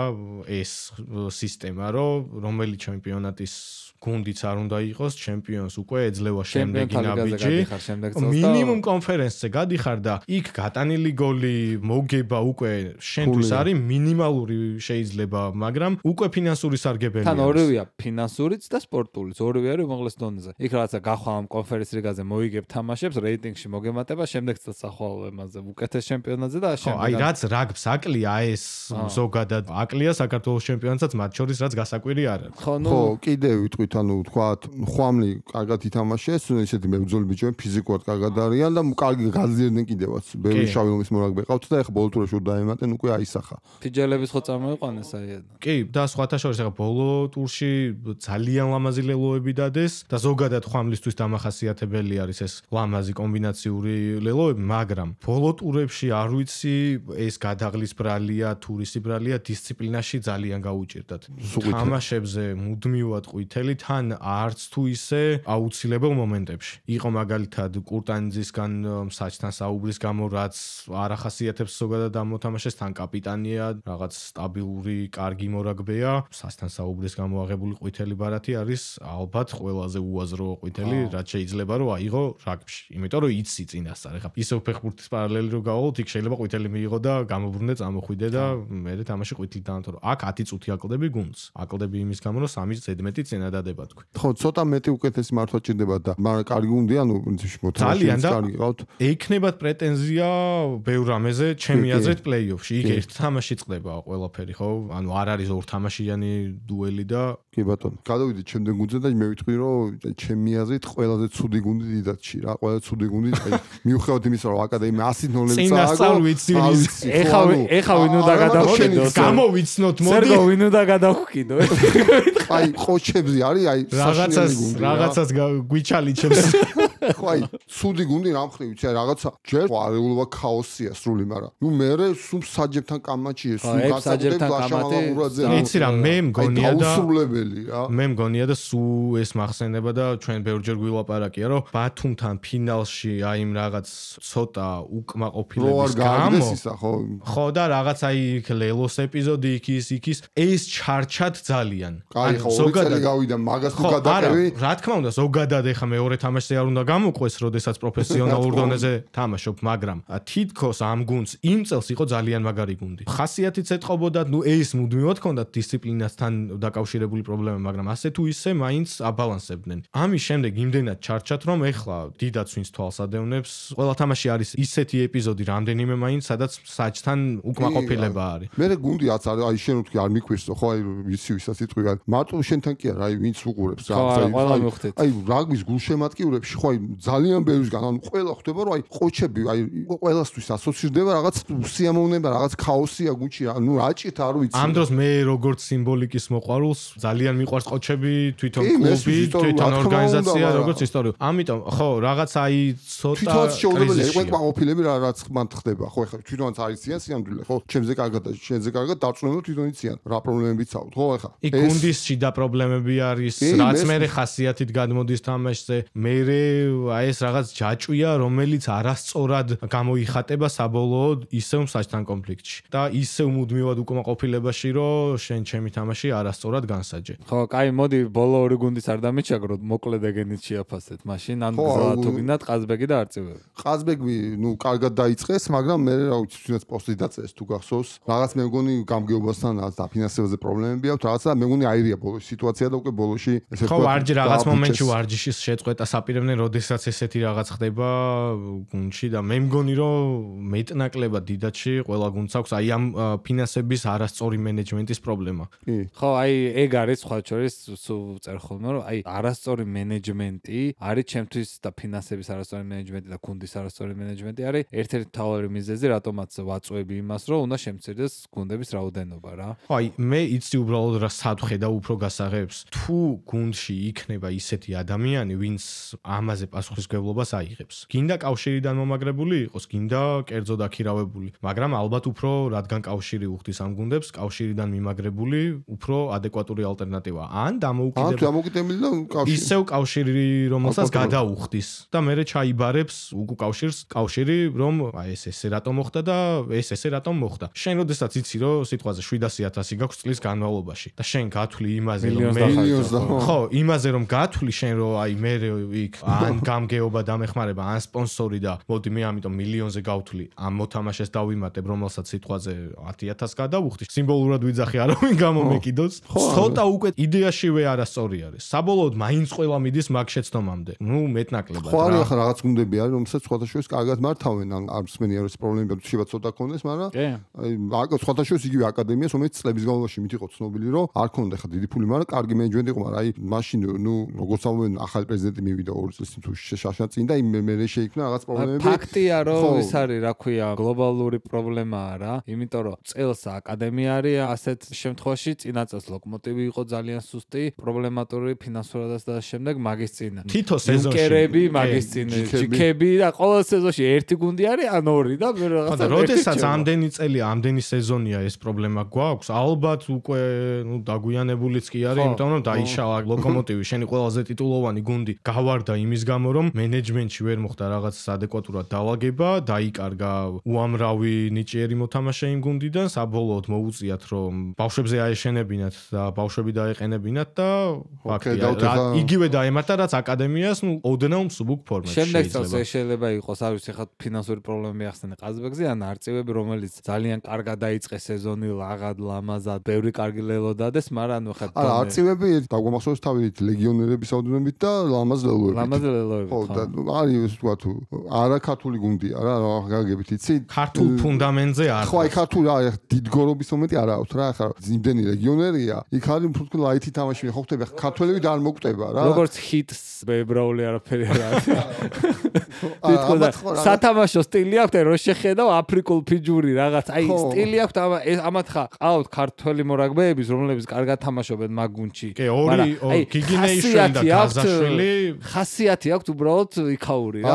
ეს სისტემა რომ რომელი ჩემპიონატის გუნდიც არ უნდა იყოს ჩემპიონს უკვე ეძლევა შემდეგი ნაბიჯი. მინიმუმ კონფერენსზე გადიხარ და იქ გატანილი გოლი მოგება უკვე შენთვის არის მინიმალური შეიძლება, მაგრამ უკვე ფინანსური სარგებელი არის. თან ორივეა, ფინანსურიც და სპორტულიც, ორივე არის უმაღლეს დონეზე. იქ რაღაცა გახვა ამ კონფერენს ლიგაზე მოიგებ თამაშებს, რეიტინგში მოგემატება, შემდეგ წელს ახვალ ემაზე უკეთეს ჩემპიონატზე და შემდეგ. აი რაც რაგბს აკლია ეს ზოგადად აკლია საქართველოს ჩემპიონატსაც მათ შორის რაც გასაკვირი არ არის. ხო, კიდე ვიტყვით ანუ თქვათ ხვამლი კარგად ითამაშეს, ისეთი მებრძოლი ბიჭები ფიზიკურად კარგად არიან და კარგი გაძლიერდნენ კიდევაც. ბევრი შავი ომის მორაგბე ყავთ და ეხლა ბოლო ტურში დაემატენ უკვე აისახა. ფიჯელების ხო წამოიყვანეს აი. კი, და სხვათა შორის ეხლა ბოლო ტურში ძალიან ლამაზი ლელოები დადეს და ზოგადად ხვამლისთვის დამახასიათებელი არის ეს ლამაზი კომბინაციური ლელოები, მაგრამ ბოლო ტურებში არ ვიცი ეს გადაღლის ბრალია, თურისი ბრალია დისციპლინაში ძალიან გაუჭირდათ. თამაშებზე მუდმივად ყვითელი თან არც თუ ისე აუცილებელ მომენტებში. იყო მაგალითად კურტანიძისგან საჭთან საუბრის გამო რაც არ ახასიათებს ზოგადად ამ მოთამაშეს, თან კაპიტანია, რაღაც სტაბილური, კარგი მორაგბეა, საჭთან საუბრის გამო აღებული ყვითელი ბარათი არის ალბათ ყველაზე უაზრო ყვითელი, რაც შეიძლება რომ აიღო რაგბში. იმიტომ რომ იცი წინასწარ. ეხლა ისევ ფეხბურთის პარალელი რო გავავალთ, იქ შეიძლება ყვითელი მიიღო და გამობრუნდე, წამოხვიდე და მერე თამაში ყვითლით დაანთო. აქ 10 წუთი აკლდები გუნდს. აკლდები იმის გამო რომ 3 ზედმეტი წინა დადება თქვი. ხო, ცოტა მეტი უკეთესი მართვა ჭირდება და მაგრამ კარგი გუნდი, ანუ პრინციპში მოთამაშეებს კარგი ყავთ. ეიქნებათ პრეტენზია ბევრ რამეზე, ჩემი აზრით პლეიოფში. იქ ერთ თამაში წყდება ყველაფერი, ხო? ანუ არ არის ორ თამაშიანი დუელი და კი ბატონო. გადავიდეთ შემდეგ გუნდზე და მე ვიტყვი რომ ჩემი აზრით ყველაზე ცუდი გუნდი დიდათში რა, ყველაზე ცუდი გუნდი, აი მიუხედავად იმისა რომ აკადემია 100 ნოლები წააგო. ეხა ვინ უნდა გადავხიდო? გამოვიცნოთ, მოდი. სერგო ვინ უნდა გადავხიდო? აი ყოჩებზე არის, აი რაღაცას გვიჩალიჩებს. ხო, აი ცუდი გუნდი რა მხრივ ვიცი, რაღაცა ჯერ არეულობა ქაოსია სრული, მაგრამ ნუ მე სულ საჯებთან კამაჩია, სულ გასაგებ ლაშამალაღურაძე. იცი რა, მე მგონია და დაუსრულებელი რა. მე მგონია და სულ ეს მახსენდება და ჩვენ ბევრჯერ გვილაპარაკია, რომ ბათუმთან ფინალში აი იმ რაღაც ცოტა უკმაყოფილების გამო ხო და რაღაც აი ლელოს ეპიზოდი იქის ეს ჩარჩად ძალიან. აი ხო ზოგადად გავიდა მაგას თუ გადაყევი. რა თქმა უნდა, ზოგადად ეხა მეორე თამაშზე არ უნდა გამოყვეს, როდესაც პროფესიონალურ დონეზე თამაშობ, მაგრამ თითქოს ამ გუნდს იმ წელს იყო ძალიან მაგარი გუნდი. ხასიათიც ეთყობოდა, ნუ ეს მუდმივად ჰქონდათ დისციპლინასთან დაკავშირებული პრობლემა, მაგრამ ასე თუ ისე მაინც აბალანსებდნენ. ამის შემდეგ იმდენად ჩარჩათ, რომ ეხლა დიდაც ვინც თვალს ადევნებს, ყველა თამაში არის ისეთი ეპიზოდი რამდენიმე მაინც, სადაც საჭთან უკმაყოფილება არის. მე გუნდიაც არის, აი შენ ვთქვი არ მიქვისო, ხო აი ვიცი ვისაც იტყვი, მარტო შენთან კი არა, აი ვინც უყურებს რა. აი რაგბის გულშემატკივრებში ხო აი ძალიან ბევრისგან, ანუ ყველა ხვდება რომ აი ყოჩები, აი ყველასთვის ასოცირდება რაღაც სიამოვნება, რაღაც ქაოსია გუნდში, ნუ რაჭით არ ვიცი. ამ დროს მე როგორც სიმბოლიკის მოყვარულს ძალიან ძალიან მიყვარს ყოჩები, თვითონ კლუბი, თვითონ ორგანიზაცია, როგორც ისტორია. ამიტომ ხო, რაღაც აი ცოტა თვითონაც შეუძლებელია იყო ყოფილები რაც მან ხდება. ხო, ეხლა თვითონაც არის ციან სიამდვილე, ხო, ჩემზე კარგად და შენზე კარგად დარწმუნებულ თვითონ იციან რა პრობლემებიც აქვს, ხო, ეხლა. იქ გუნდის შიდა პრობლემები არის, რაც მე ხასიათით გადმოდის თამაშზე. მე აი ეს რაღაც ჯაჭვია, რომელიც არასწორად გამოიხატება საბოლოოდ ისევ მსაჯთან კონფლიქტში. და ისევ მუდმივად უკმაყოფილებაში, რომ შენ ჩემი თამაში არასწორად განსაჯე. ხო, კაი, მოდი ბოლო ორი გუნდის არ დამიჩაგროთ, მოკლედ ეგენით შეაფასეთ. მაშინ ან გზა გინდათ ყაზბეგი და არწივები. ყაზბეგი, კარგად დაიწყეს, მაგრამ მე რა ვიცი, თუნდაც პოსტი დაწეს თუ გახსოვს. რაღაც მე მგონი გამგეობასთან და ფინანსებზე პრობლემები აქვს, რაღაცა მე მგონი აირია ბოლოს სიტუაცია და უკვე ბოლოში ესე ვთქვათ. ხო, ვარჯი რაღაც მომენტში ვარჯიშის შეწყვეტა საპირებდნენ, როდესაც ესეთი რაღაც ხდება გუნდში და მე მგონი რომ მეტნაკლებად დიდათში ყველა გუნდს აქვს აი ამ ფინანსების არასწორი მენეჯმენტის პრობლემა. ხო, აი ეგ არის სხვა შორის წერ ხოლმე რომ აი არასწორი მენეჯმენტი არის ჩემთვის და ფინანსების არასწორი მენეჯმენტი და გუნდის არასწორი მენეჯმენტი არის ერთ-ერთი მთავარი მიზეზი რატომაც ვაწვევი იმას რომ უნდა შემცირდეს გუნდების რაოდენობა რა. ხო, აი მე იცი უბრალოდ რა სადღე და უფრო გასაღებს. თუ გუნდში იქნება ისეთი ადამიანი, ვინც ამაზე პასუხისმგებლობას აიღებს. გინდა კავშირიდან მომაგრებული იყოს, გინდა კერძო დაქირავებული, მაგრამ ალბათ უფრო რადგან კავშირი უხდის ამ გუნდებს, კავშირიდან მიმაგრებული უფრო ადეკვატური ალტერნატივა. ან დამოუკიდებელი და კავშირი. ისევ კავშირი, რომელსაც გადაუხდის და მერე ჩაიბარებს უკუ კავშირი, რომ აი ესე რატომ მოხდა და ესე რატომ მოხდა. შენ როდესაც იცი, რომ სიტყვაზე 700,000 გაქვს წლის განმავლობაში და შენ გათვლი იმაზე, რომ გათვლი შენ რომ აი მე იქ ან გამგეობა დამეხმარება, ან სპონსორი და მოდი მე ამიტომ მილიონზე გავთვლი ამ მოთამაშეს დავიმატებ, რომელსაც სიტყვაზე 10,000 გადავუხდი. სიმბოლურად ვიძახი არავინ გამომეკიდოს. ცოტა უკვე იდეაშივე არასწორი არის. საბოლოოდ მაინც ყველა მიდის მაგ შეცდომამდე. მეტნაკლებად რა. ხო, არის ახლა რაღაც გუნდები არის, რომელსაც სხვადასხვა კარგად მართავენ, ან არც მენი არის პრობლემები, შეიძლება ცოტა კონდეს, მაგრამ აი სხვადასხვა იგივე აკადემიას, რომელიც წლების განმავლობაში მით იყო ცნობილი, რომ არ ქონდა ხა დიდი ფული, მაგრამ კარგი მენეჯმენტი იყო, მაგრამ აი მაშინ როგორც ამბობენ, ახალი პრეზიდენტი მივიდა 2 წელს თუ შაშა წინ და მე შეიქმნა რაღაც პრობლემები. ფაქტია, რომ ის არის, რა ქვია, გლობალური პრობლემაა რა, იმიტომ რომ წელს აკადემია არის ასეთ შემთხვევაში, წინა წელს ლოკომოტივი იყო ძალიან სუსტი, პრობლემატური ფინანსურადაც და შემდეგ მაგის წინ. თითო სეზონში კერები მაგის წინ, ჯიქები და ყოველ სეზონში ერთი გუნდი არის, ან ორი და მე რაღაცა. როდესაც ამდენი წელი, ამდენი სეზონია ეს პრობლემა გვაქვს, ალბათ უკვე დაგვიანებულიც კი არის, იმიტომ რომ დაიშალა ლოკომოტივი, შენი ყველაზე ტიტულოვანი გუნდი გავარდა იმის გამო, რომ მენეჯმენტში ვერ მოხდა რაღაც ადეკვატურად დაალაგება, დაიკარგა უამრავი ნიჭიერი მოთამაშე იმ გუნდიდან, საბოლოოდ მოუწიათ რომ ბავშვებზე აეშენებინათ და ბავშვები დაეყენებინათ და ფაქტია, იგივე დაემართა რაც აკადემიას, ოდნავ მსუბუქ ფორმაში. შემდეგ წელს შეიძლება იყოს, არ ვიცი, ხა ფინანსური პრობლემები ახსენე ყაზბეგზე, ან არწივები, რომელიც ძალიან კარგად დაიწყეს სეზონი, ლაღად, ლამაზად, ბევრი კარგი ლელო დადეს, მაგრამ ანუ ხა არწივები დაგვამახსოვს თავით ლეგიონერების აუდენობით და ლამაზ ლელოებით. ხო, და არის თქვა თუ არა ქართული გუნდია რა, გაგებით იცი? ქართულ ფუნდამენტზე არ. ხო, აი ქართული აი დიდგორობის მომენტი არ აქვს რა, ხა იმდენი ლეგიონერია, იქ არის უფრო ლაითი თამაში, ხო ხდება, ქართველები და არ მოკვდება რა. როგორც ჰიტს ბებრაული არაფერი არ არის. თვითონ სათამაშო სტილი აქვს, რომ შეხედავ აფრიკულ ფიჯური რაღაც, აი სტილი აქვს ამათ ხა ყავთ ქართველი მორაგბეების, რომლებიც კარგად თამაშობენ მაგ გუნდში. კი, ორი გიგინეიშვილი და გაზაშვილი ხასიათი აქვს უბრალოდ იქაური რა.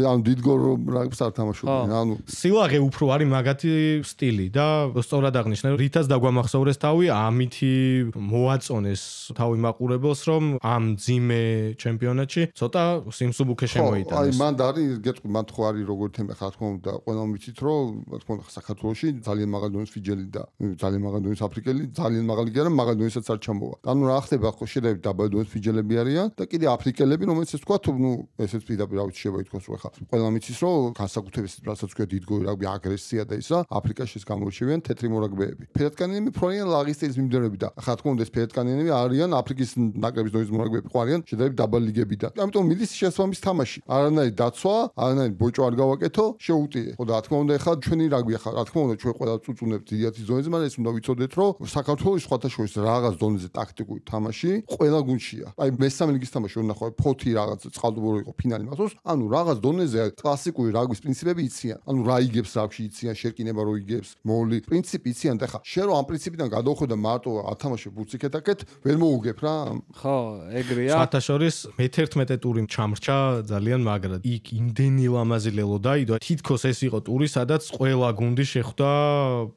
ან დიდგორ რაგბს არ თამაშობენ, ანუ სილაღე უფრო არის მაგათი სტილი და სწორად აღნიშნე, რითაც დაგვამახსოვრეს თავი, ამითი მოაწონეს თავი მაყურებელს, რომ ამ ძიმე ჩემპიონატში ცოტა სიმსუბუქე შემოიტანეს. აი მანდ არის, გეტყვი, მანდ ხო არის როგორ თემა ხა თქო და ყველამ ვიცით, რომ თქო საქართველოში ძალიან მაღალი დონის ფიჯელი და ძალიან მაღალი დონის აფრიკელი, ძალიან მაღალი კი არა, მაღალი დონისაც არ ჩამოვა. ანუ რა ხდება, ხო შედარებით დაბალი დონის ფიჯელები არიან და კიდე აფრიკელები, რომელიც ეს თქვა თუ ესეც პირდაპირ რა ვიცი შეიძლება ითქვას, რომ ხა ყველამ იცის, რომ განსაკუთრებით რასაც თქვა დიდგორი რაგბი აგრესია და ისა, აფრიკაში გამორჩევიან თეთრი მორაგბეები. ფერადკანიანები ფრონიან ლაღის სტილის მიმდევრები და ხა თქო ეს ფერადკანიანები არიან აფრიკის ნაკრების დონის მორაგბეები, ხო არიან შედარებით დაბალი ლიგებიდან. ამიტომ მიდის შესაბამის თამაში. არანაირი დაცვა, არანაირი ბოჭო არ გავაკეთო, შეუტიე. ხო და რა თქმა უნდა ხა ჩვენი რაგბი ხა რა თქმა უნდა ჩვენ ყველა წუწუნებთ დიათის დონეზე, მაგრამ ეს უნდა ვიცოდეთ, რომ საქართველოს სხვათაშორის რაღაც დონეზე ტაქტიკური თამაში ყველა გუნდშია. აი მესამე ლიგის თამაში უნდა ხო ფოთი რაღაც წყალდუბური იყო ფინალი მახსოვს. ანუ რაღაც დონეზე კლასიკური რაგბის პრინციპები იციან. ანუ რა იგებს რაგბში იციან, შერკინება რო იგებს, მოვლი, პრინციპი იციან და ხა შენ რომ ამ პრინციპიდან გადავხედა მარტო ათამაშე თუნდაც იქეთ-აქეთ ვერ მოუგებ რა. ხო, ეგრეა. საერთაშორის მე-11 ტური ჩამრჩა ძალიან მაგრად. იქ იმდენი ლამაზი ლელო დაიდო, თითქოს ეს იყო ტური, სადაც ყველა გუნდი შეხვდა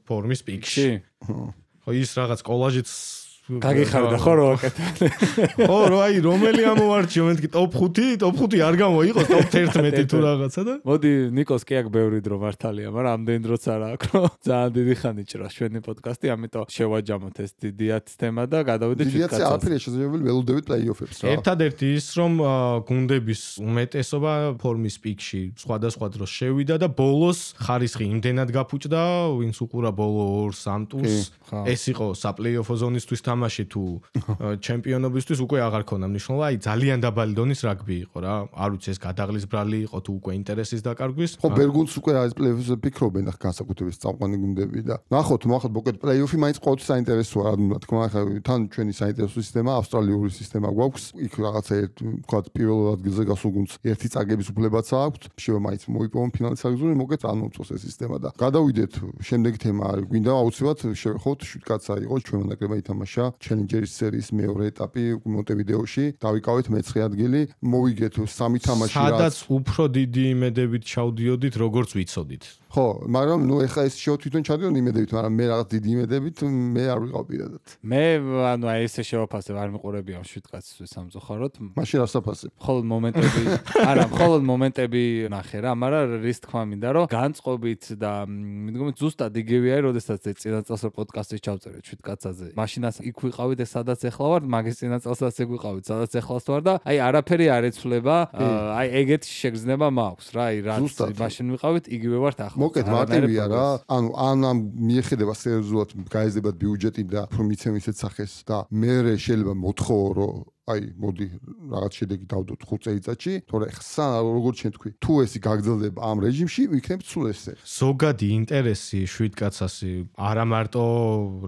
ფორმის პიკში. ხო, ის რაღაც კოლაჟიც გაგიხარდა ხო რა აკეთე. ხო, აი რომელი ამოვარჩიო მეთქი ტოპ 5 არ გამოიყოს ტოპ 11 თუ რაღაცა და მოდი ნიკოს კი აქ ბევრი დრო მართალია, მაგრამ ამდენი დროც არ აქვს, რომ ძალიან დიდი ხანი ჭრას ჩვენი პოდკასტი, ამიტომ შევაჯამოთ ეს დიდიათ თემა და გადავიდეთ შეკაცას. დიდიათზე არაფერია შესაძლებელი, ველოდებით პლეიოფებს რა. ერთადერთი ის რომ გუნდების უმეტესობა ფორმის პიკში სხვადასხვა დროს შევიდა და ბოლოს ხარისხი იმდენად გაფუჭდა, ვინც უყურა ბოლო 2-3 ტურს. ეს იყო საპლეიოფო ზონისთვის თამაში თუ ჩემპიონობისთვის უკვე აღარ ქონდა მნიშვნელობა, აი ძალიან დაბალი დონის რაგბი იყო რა. არ ვიცი ეს გადაღლის ბრალი იყო თუ უკვე ინტერესის დაკარგვის. ხო, ბერგუნს უკვე არის პლეიოფზე ფიქრობენ ახ განსაკუთრებით წამყვანი გუნდები და ნახოთ, მოხოთ პლეიოფი მაინც ყოველთვის საინტერესოა, რა თქმა უნდა, თან ჩვენი საინტერესო სისტემა, ავსტრალიური სისტემა გვაქვს. იქ რაღაცა თქვა პირველ ადგილზე გასულ გუნდს ერთი წაგების უფლებაც აქვს. შევა მაინც მოიპოვონ ფინალის აგზური, მოკეთ არ მომწონს ეს სისტემა და გადავიდეთ შემდეგი თემა არის. გვინდა აუცილებლად შევეხოთ შვიდკაცა იყო ჩვენ ნაკრებმა ითამაშა ჩელენჯერის სერიის მეორე ეტაპი მონტევიდეოში. დავიკავეთ მე-9 ადგილი, მოვიგეთ 3 თამაში რაც სადაც უფრო დიდი იმედებით ჩავდიოდით, როგორც ვიცოდით. ხო, მაგრამ ნუ ეხლა ეს შევ თვითონ ჩადიოდი იმედებით, მაგრამ მე რაღაც დიდი იმედებით მე არ ვიყავ პირადად. მე ანუ აი ესე შევაფასებ, არ მიყურებია შვიდკაცისთვის სამწუხაროდ. მაშინ არ საფასებ. მხოლოდ მომენტები, არა, მხოლოდ მომენტები ნახე რა, მაგრამ რის თქმა მინდა, რომ განწყობით და მიდგომით ზუსტად იგივე არის, როდესაც წინა წელს პოდკასტის ჩავწერეთ შვიდკაცაზე. მაშინაც იქ ვიყავით და სადაც ეხლა ვარ, მაგის წინა წელსაც ეგ ვიყავით, სადაც ეხლას ვარ და აი არაფერი არ ეცვლება, აი ეგეთი შეგრძნება მაქვს რა, აი რაც მაშინ ვიყავით, იგივე ვართ ახლა. მოკეთ მარტივია რა. ანუ ან მიეხედება სერიოზულად გაიზრდებათ ბიუჯეტი და უფრო მიცემ ისეთ სახეს და მე შეიძლება მოთხოვო რომ აი მოდი რაღაც შედეგი დავდოთ 5 წელიწადში, თორე ხსა როგორც შენ თქვი, თუ ესი გაგრძელდება ამ რეჟიმში, ვიქნებ სულ ესე. ზოგადი ინტერესი შვიდკაცასი არა მარტო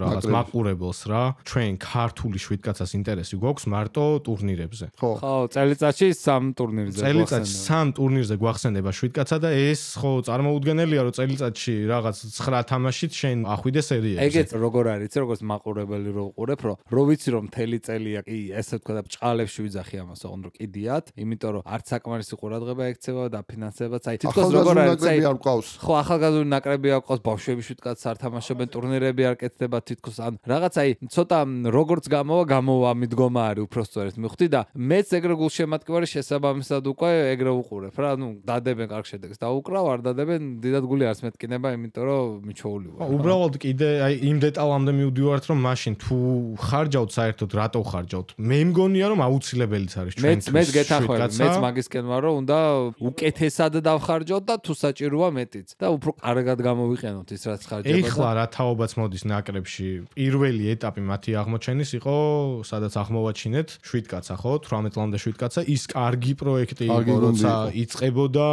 რაღაც მაყურებელს რა, ჩვენ ქართული შვიდკაცას ინტერესი გვაქვს მარტო ტურნირებზე. ხო, წელიწადში 3 ტურნირზე. წელიწადში 3 ტურნირზე გვახსენდება შვიდკაცა და ეს ხო წარმოუდგენელია, რომ წელიწადში რაღაც 9 თამაშით შენ ახვიდე სერიებზე. ეგეც როგორ არის, როგორც მაყურებელი რო უყურებ, რო ვიცი რომ მთელი წელია კი ესე თქვა ჭყალებში ვიძახი ამას, ოღონდ რომ კიდიათ, იმიტომ რომ არც საკმარისი ყურადღება ექცევა და ფინანსებაც, აი თითქოს როგორ არის, აი ხო, ახალგაზრდული ნაკრები არ ყავს, ბავშვები შვიდკაც არ თამაშობენ, ტურნირები არ კეთდება თითქოს, ან რაღაც აი ცოტა როგორც გამოვა მიდგომა არის უпростоრეთ მივხვდი და მეც ეგრე გულშემატკივარი შესაბამისად უკვე ეგრე უყურებ რა, ნუ დადებენ კარგ შედეგს და უკრავ არ დადებენ, დიდად გული არც მეტკინება, იმიტომ რომ მიჩვეული ვარ. უბრალოდ კიდე აი იმ დეტალამდე მივდივართ, რომ მაშინ თუ ხარჯავთ საერთოდ რატო ხარჯავთ? მე მგონია რომ აუცილებელიც არის ჩვენთვის. მეც გეთანხმები, მეც მაგისკენ ვარ, რომ უნდა უკეთესად დავხარჯოთ და თუ საჭიროა მეტიც და უფრო კარგად გამოვიყენოთ ის რაც ხარჯება. ეხლა რა თაობაც მოდის ნაკრებში. პირველი ეტაპი მათი აღმოჩენის იყო, სადაც აღმოვაჩინეთ შვიდკაცა, ხო? 18 წლამდე შვიდკაცა, ის კარგი პროექტი იყო, როცა იწყებოდა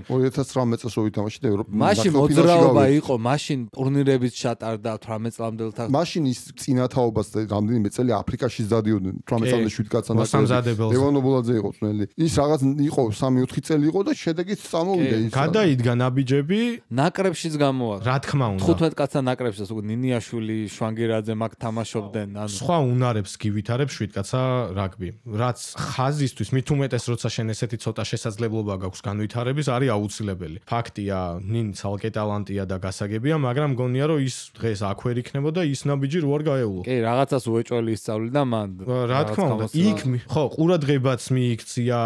2019 წელს ვითამაშეთ ევროპის. მაშინ მოძრაობა იყო, მაშინ ტურნირებიც ჩატარდა 18 წლამდელთან. მაშინ ის წინა თაობას და რამდენიმე წელი აფრიკაშიც დადიოდნენ 18 წლამდე შვიდკაცა მოსამზადებელს. ლევანობულაძე იყო წნელი. ის რაღაც იყო 3-4 წელი იყო და შედეგიც წამოვიდა ის. გადაიდგა ნაბიჯები, ნაკრებშიც გამოვა. რა თქმა უნდა. 15 კაცა ნაკრებშიც უკვე ნინიაშვილი, შვანგერაძე მაგ თამაშობდნენ, ანუ სხვა უნარებს გივითარებს შვიდკაცა რაგბი. რაც ხაზისთვის მით უმეტეს როცა შენ ესეთი ცოტა შესაძლებლობა გაქვს განვითარების, არის აუცილებელი. ფაქტია, ნინ ცალკე ტალანტია და გასაგებია, მაგრამ მგონია რომ ის დღეს აქ ვერ იქნებოდა ის ნაბიჯი რო არ გაეულო. კი, რაღაცას უეჭველი ისწავლიდა მან. რა თქმა უნდა, იქ ხო, ყურადღებაც მიიქცია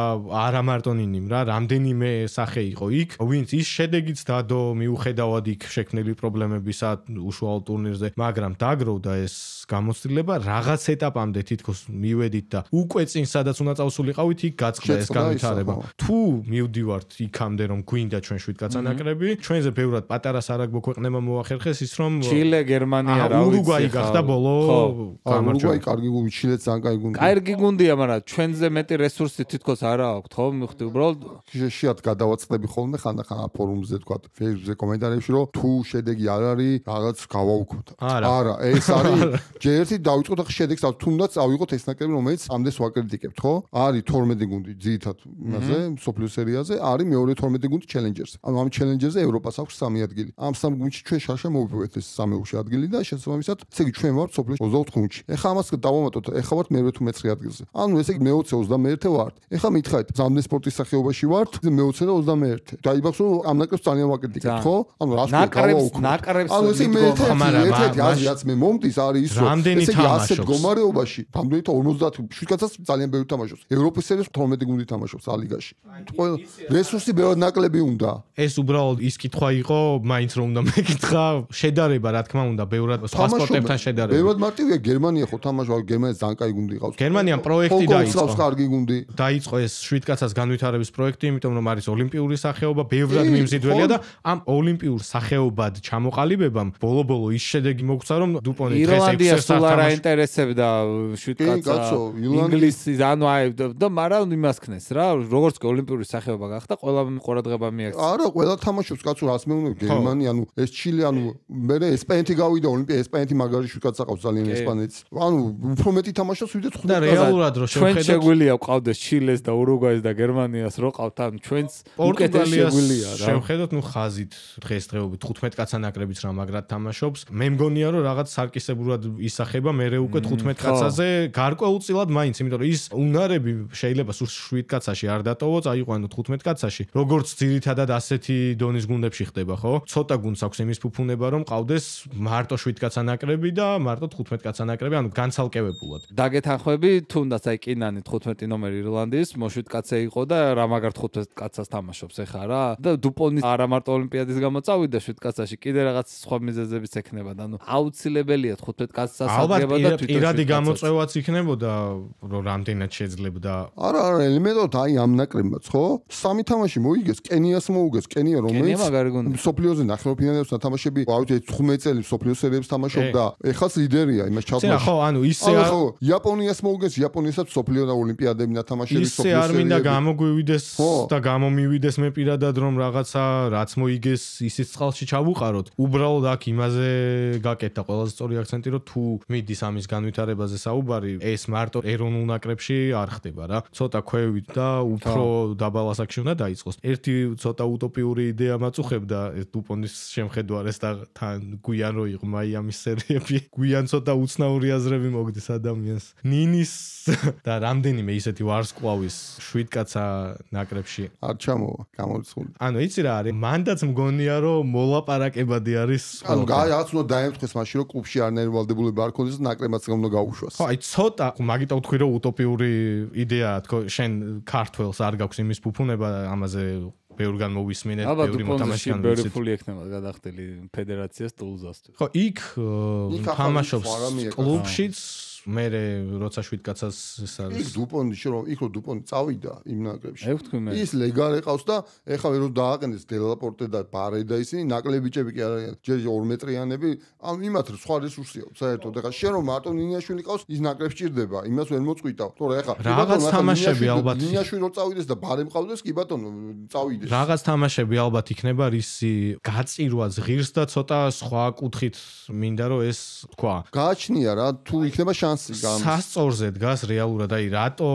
არა მარტო ნინიმ რა, რამდენიმე სახე იყო იქ, ვინც ის შედეგიც დადო მიუხედავად იქ შექმნილი პრობლემებისა უშუალო ტურნირზე, მაგრამ დაგროვდა ეს გამოცდილება რაღაც ეტაპამდე თითქოს მივედით და უკვე წინ სადაც უნდა წავსულიყავით იქ გაწყდა ეს განვითარება. თუ მივდივართ იქამდე რომ გვინდა ჩვენ შვიდკაცა ნაკრები, ჩვენზე ბევრად პატარა სარაგბო ქვეყნებმა მოახერხეს ის რომ ჩილე, გერმანია, რა ვიცი. ურუგვაი გახდა ბოლო გამარჯვება. ურუგვაი კარგი გუნდი, ჩილეც ძალიან კარგი გუნდი. კარგი გუნდია, მაგრამ ჩვენზე მეტი რესურსი თითქოს არა აქვს, ხო? მივხვდი უბრალოდ შეათ გადავაწყდები ხოლმე ხანდახან ფორუმზე თქვა, Facebook-ზე კომენტარებში, რომ თუ შედეგი არ არის, რაღაც გავაუქმოთ. არა, ეს არის ჯერ ერთი დავიწყოთ ახლა შედეგს, თუნდაც ავიღოთ ეს ნაკრები, რომელიც ამდენს ვაკრიტიკებთ, ხო? არის 12 გუნდი ძირითად იმაზე, სოფლიო სერიაზე, არის მეორე 12 გუნდი ჩელენჯერზე. ანუ ამ ჩელენჯერზე ევროპას აქვს 3 ადგილი. ამ 3 გუნდში ჩვენ შარშა მოვიპოვეთ ეს 3-ე ადგილი და შესაბამისად, ესე იგი ჩვენ ვართ სოფლიოში 24 გუნდში. ეხლა ამას დავამატოთ, ეხლა ვართ მე-8 თუ მე-9 ადგილზე. ანუ ესე იგი მე-20 21 ვართ. ეხლა მითხარით, ზამთრის სპორტის სახეობაში ვართ, მე-20 და 21. დაიბახს რომ ამ ნაკრებს ძალიან ვაკრიტიკებთ, ხო? ანუ რას ნაკრებს ანუ ესე მე-1 აზრიაც მე მომდის არის ის რომ ესე იგი ასეთ მდგომარეობაში რამდენი და 57 კაცს ძალიან ბევრი თამაშობს. ევროპის სერიის 12 გუნდი თამაშობს ალიგაში. ყველა რესურსი ბევრად ნაკლები უნდა. ეს უბრალოდ ის კითხვა იყო, მაინც რომ უნდა მეკითხა, შედარება რა თქმა უნდა, ბევრად სხვა სპორტებთან შედარება. ბევრად მარტივია გერმანია ხო თამაშობს, გერმანიის ძალიან კაი გუნდი ყავს. გერმანიამ პროექტი დაიწყო. კარგი გუნდი. დაიწყო ეს 7 კაცას განვითარების პროექტი, იმიტომ რომ არის ოლიმპიური სახეობა, ბევრად მიმზიდველია და ამ ოლიმპიურ სახეობად ჩამოყალიბებამ ბოლო-ბოლო ის შედეგი მოგცა რომ დუპონი დღეს ირლანდია სულ არ აინტერესებდა 7 კაცს ინგლისის ანუ აი და მაგრამ იმას ქნეს რა როგორც კი ოლიმპიური სახეობა გახდა ყველა ყურადღება მიაქცია არა ყველა თამაშობს კაცო რას მეუბნები გერმანია ანუ ეს ჩილე ანუ მე ესპანეთი გავიდა ოლიმპია ესპანეთი მაგარი 7 კაცს აყავს ძალიან ესპანეთს ანუ უფრო მეტი თამაშობს ვიდრე 5 და რეალურად რო ჩვენ შეგვიძლია ყავდეს ჩილეს და ურუგვაის და გერმანიას რო ყავთ ან ჩვენს უკეთესი შეგვიძლია რა შევხედოთ ნუ ხაზით დღესდღეობით 15 კაცა ნაკრებიც რა მაგრად თამაშობს მე მგონია რომ რაღაც სარკისებურად ისახება მე უკვე 15 კაცაზე გარკვეულწილად მაინც იმიტომ რომ ის უნარები შეიძლება სულ 7 კაცაში არ დატოვო წაიყვანო 15 კაცაში როგორც ძირითადად ასეთი დონის გუნდებში ხდება ხო ცოტა გუნდს აქვს იმის ფუფუნება რომ ყავდეს მარტო 7 კაცა ნაკრები და მარტო 15 კაცა ნაკრები ანუ განცალკევებულად დაგეთანხმები თუნდაც აი კინანი 15 ნომერი ირლანდიის მოშვიდ კაცე იყო და რა მაგარ 15 კაცას თამაშობს ეხა რა და დუპონი არა მარტო ოლიმპიადის გამო წავიდა 7 კაცაში კიდე რაღაც სხვა მიზეზებიც ექნება და ანუ აუცილებელია 15 კაცს ასაგება და თვითონ პირადი გამოწვევაც იქნებოდა რომ რამდენად შეძლებდა არა ელემენტად აი ამ ნაკრებმაც ხო სამი თამაში მოიგეს კენიას მოუგეს კენია რომელიც სოფლიოზე ნახევარფინალებს თამაშები ავით 15 წელი სოფლიო სერიებს თამაშობდა ეხაც ლიდერია იმას ჩავთვალე ხო ანუ ისე ხო იაპონიას მოუგეს იაპონიასაც სოფლიო და ოლიმპიადები ნათამაშები სოფლიო ისე არ მინდა გამოგვივიდეს და გამომივიდეს მე პირადად რომ რაღაცა რაც მოიგეს ისიც წყალში ჩავუყაროთ უბრალოდ აქ იმაზე გაკეთდა ყველაზე სწორი აქცენტი რომ თუ მიდის ამის განვითარებაზე საუბარი ეს მარტო ეროვნულ ნაკრებში არ ხდება რა ცოტა ქვევით და უფრო დაბალ ასაკში უნდა დაიწყოს ერთი ცოტა უტოპიური იდეა მაწუხებდა ეს დუპონის შემხედვარეს და თან გვიან რო იყო მაიამის სერიები გვიან ცოტა უცნაური აზრები მოგდის ადამიანს ნინის და რამდენიმე ისეთი ვარსკვლავის 7 კაცა ნაკრებში არ ჩამოვა გამორიცხული ანუ იცი რა არის მანდაც მგონია რომ მოლაპარაკებადი არის ანუ რაღაც უნდა დაემთხეს მაშინ რომ კლუბში არ ნერვალდებულება არ ქონდეს და ნაკრებმაც უნდა გაუშვას ხო აი ცოტა მაგიტო ვთქვი რომ უტოპიური იდეაა თქო შენ ქართველს არ გაქვს იმის ფუფუნება ამაზე ბევრგან მოვისმინეთ ბევრი მოთამაშეა ბევრი ფული ექნება გადახდილი ფედერაციას ტულზას ხო იქ თამაშობს კლუბშიც მე როცა 7 კაცას ეს არის იქ დუპონში რომ იქ რო დუპონი წავიდა იმ ნაკრებში ევთქვი მე ის ლეგარი ყავს და ეხლა ვერ დააყენეს დელაპორტე და ბარე და ისინი ნაკლები ბიჭები კი არიან ჯერ 2 მეტრიანები ან იმათ სხვა რესურსია საერთოდ ეხლა შენ რომ მარტო ნინიაშვილი ყავს ის ნაკრებს ჭირდება იმას ვერ მოწყვიტავ თორე ეხლა რაღაც თამაშები ალბათ ნინიაშვილი რო წავიდეს და ბარე მყავდეს კი ბატონო წავიდეს რაღაც თამაშები ალბათ იქნება რისი გაწირვა ზღირს და ცოტა სხვა კუთხით მინდა რომ ეს თქვა გააჩნია რა თუ იქნება სასწორზე დგას რეალურად აი რატო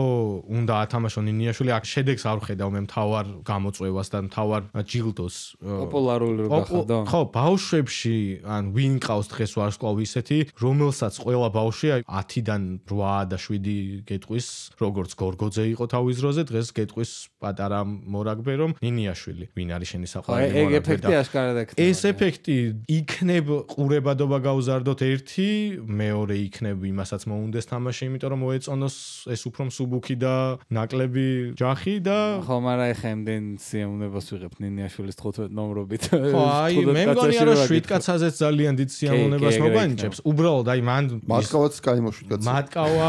უნდა ათამაშონ ნინიაშვილი აქ შედეგს არ ხედავ მე მთავარ გამოწვევას და მთავარ ჯილდოს პოპულარული რო გახდა ხო ბავშვებში ან ვინ ყავს დღეს ვარსკვლავი ისეთი რომელსაც ყველა ბავშვი აი 10-დან 8 და 7 გეტყვის როგორც გორგოძე იყო თავის დროზე დღეს გეტყვის პატარა მორაგბე რომ ნინიაშვილი ვინ არის შენი საყვარელი მორაგბე ეგ ეფექტი აშკარად ექნება ეს ეფექტი იქნებ ყურებადობა გავზარდოთ ერთი მეორე იქნებ იმასაც მოუნდეს თამაში, იმიტომ რომ მოეწონოს ეს უფრო მსუბუქი და ნაკლები ჯახი და ხო, მაგრამ ეხა ამდენ სიამოვნებას ვიღებ ნინიაშვილის 15 ნომრობით. ხო, აი მე მგონია რომ 7 კაცაზეც ძალიან დიდ სიამოვნებას მოგანიჭებს. უბრალოდ აი მან მატკავაც კაი მოშვით კაცი. მატკავა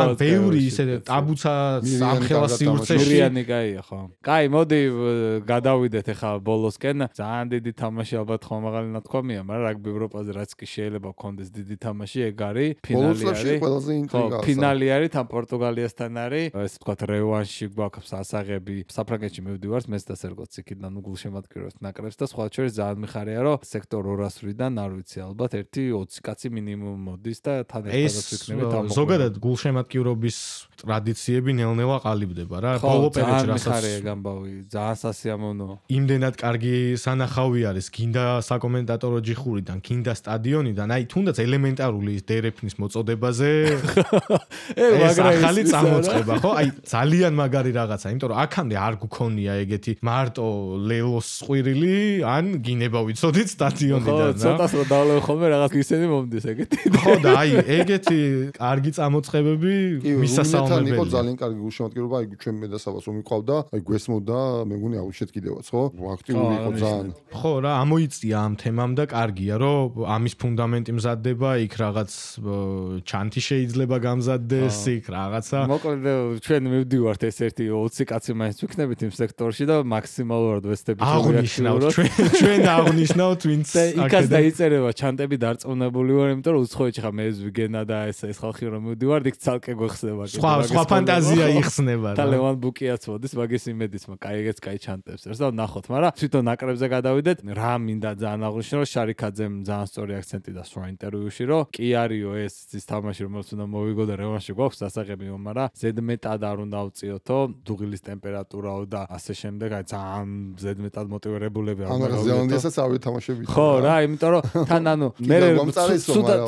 ან ბევრი ისე ტაბუცა სამხელა სივრცეში. მირიანი კაია ხო. კაი, მოდი გადავიდეთ ეხა ბოლოსკენ. ძალიან დიდი თამაში ალბათ ხომ მაღალი ნათქვამია, მაგრამ რაგბი ევროპაზე რაც კი შეიძლება გქონდეს დიდი თამაში, ეგ არის ფინალი არის. ყველაზე ინტრიგაა. ფინალი არის თან პორტუგალიასთან არის. ეს თქვა რევანში გვაქვს ასაღები. საფრანგეთში მივდივართ მეც და სერგოც იქიდან გულშემატკივრებს ნაკრებს და სხვა შორის ძალიან მიხარია რომ სექტორ 200-დან არ ვიცი ალბათ 1-20 კაცი მინიმუმ მოდის და თან ერთადაც ვიქნებით ამ ზოგადად გულშემატკივრობის ტრადიციები ნელ-ნელა ყალიბდება რა. ბოლო პერიოდში რასაც მიხარია გამბავი ძალიან სასიამოვნოა. იმდენად კარგი სანახავი არის გინდა საკომენტატორო ჯიხურიდან, გინდა სტადიონიდან, აი თუნდაც ელემენტარული დერეფნის მოწოდებაზე ეს ახალი წამოწყება, ხო? აი ძალიან მაგარი რაღაცა, იმიტომ რომ აქამდე არ გქონია ეგეთი მარტო ლელოს ყვირილი, ან გინება ვიცოდით სტადიონიდან, რა. ცოტას რომ დავლევ ხოლმე რაღაც ისინი მომდის ეგეთი. ხო და აი ეგეთი კარგი წამოწყებები მისასალმებელია. იყო ძალიან კარგი გულშემატკივრობა, აი ჩვენ მედასაბას რომ მიყავდა, აი გვესმოდა, მე მგონი აუჩეთ კიდევაც, ხო? აქტიური იყო ძალიან. ხო რა, ამოიწია ამ თემამ და კარგია, რომ ამის ფუნდამენტი მზადდება, იქ რაღაც ჩანთი შეიძლება გამზადდეს, იქ რაღაცა. მოკლედ ჩვენ მივდივართ ეს ერთი 20 კაცი მაინც ვიქნებით იმ სექტორში და მაქსიმალურად ვესტებით აღნიშნავთ ჩვენ აღნიშნავთ ვინც იქაც დაიწერება ჩანტები დარწმუნებული ვარ, იმიტომ რომ უცხოეთში ხა მე ვიგენა და ეს ხალხი რომ მივდივართ, იქ ცალკე გვეხსნება. სხვა ფანტაზია იხსნება და ლევან ბუკიაც მოდის, მაგის იმედიც მაგ კაიგეც კაი ჩანტებს ერს და ნახოთ, მაგრამ თვითონ ნაკრებზე გადავიდეთ, რა მინდა ძალიან აღნიშნო, რომ შარიქაძემ ძალიან სწორი აქცენტი დასვა ინტერვიუში, რომ კი არისო ეს ის თამაში, რომელიც უნდა მოვიგო და რევანში გვაქვს სასაღები, მაგრამ ზედმეტად არ უნდა ავწიოთო, დუღილის ტემპერატურაო და ასე შემდეგ, აი ძალიან ზედმეტად მოტივირებულები არ უნდა ზელანდიასაც არ ვითამაშებია. ხო რა, იმიტომ რომ თან ანუ მე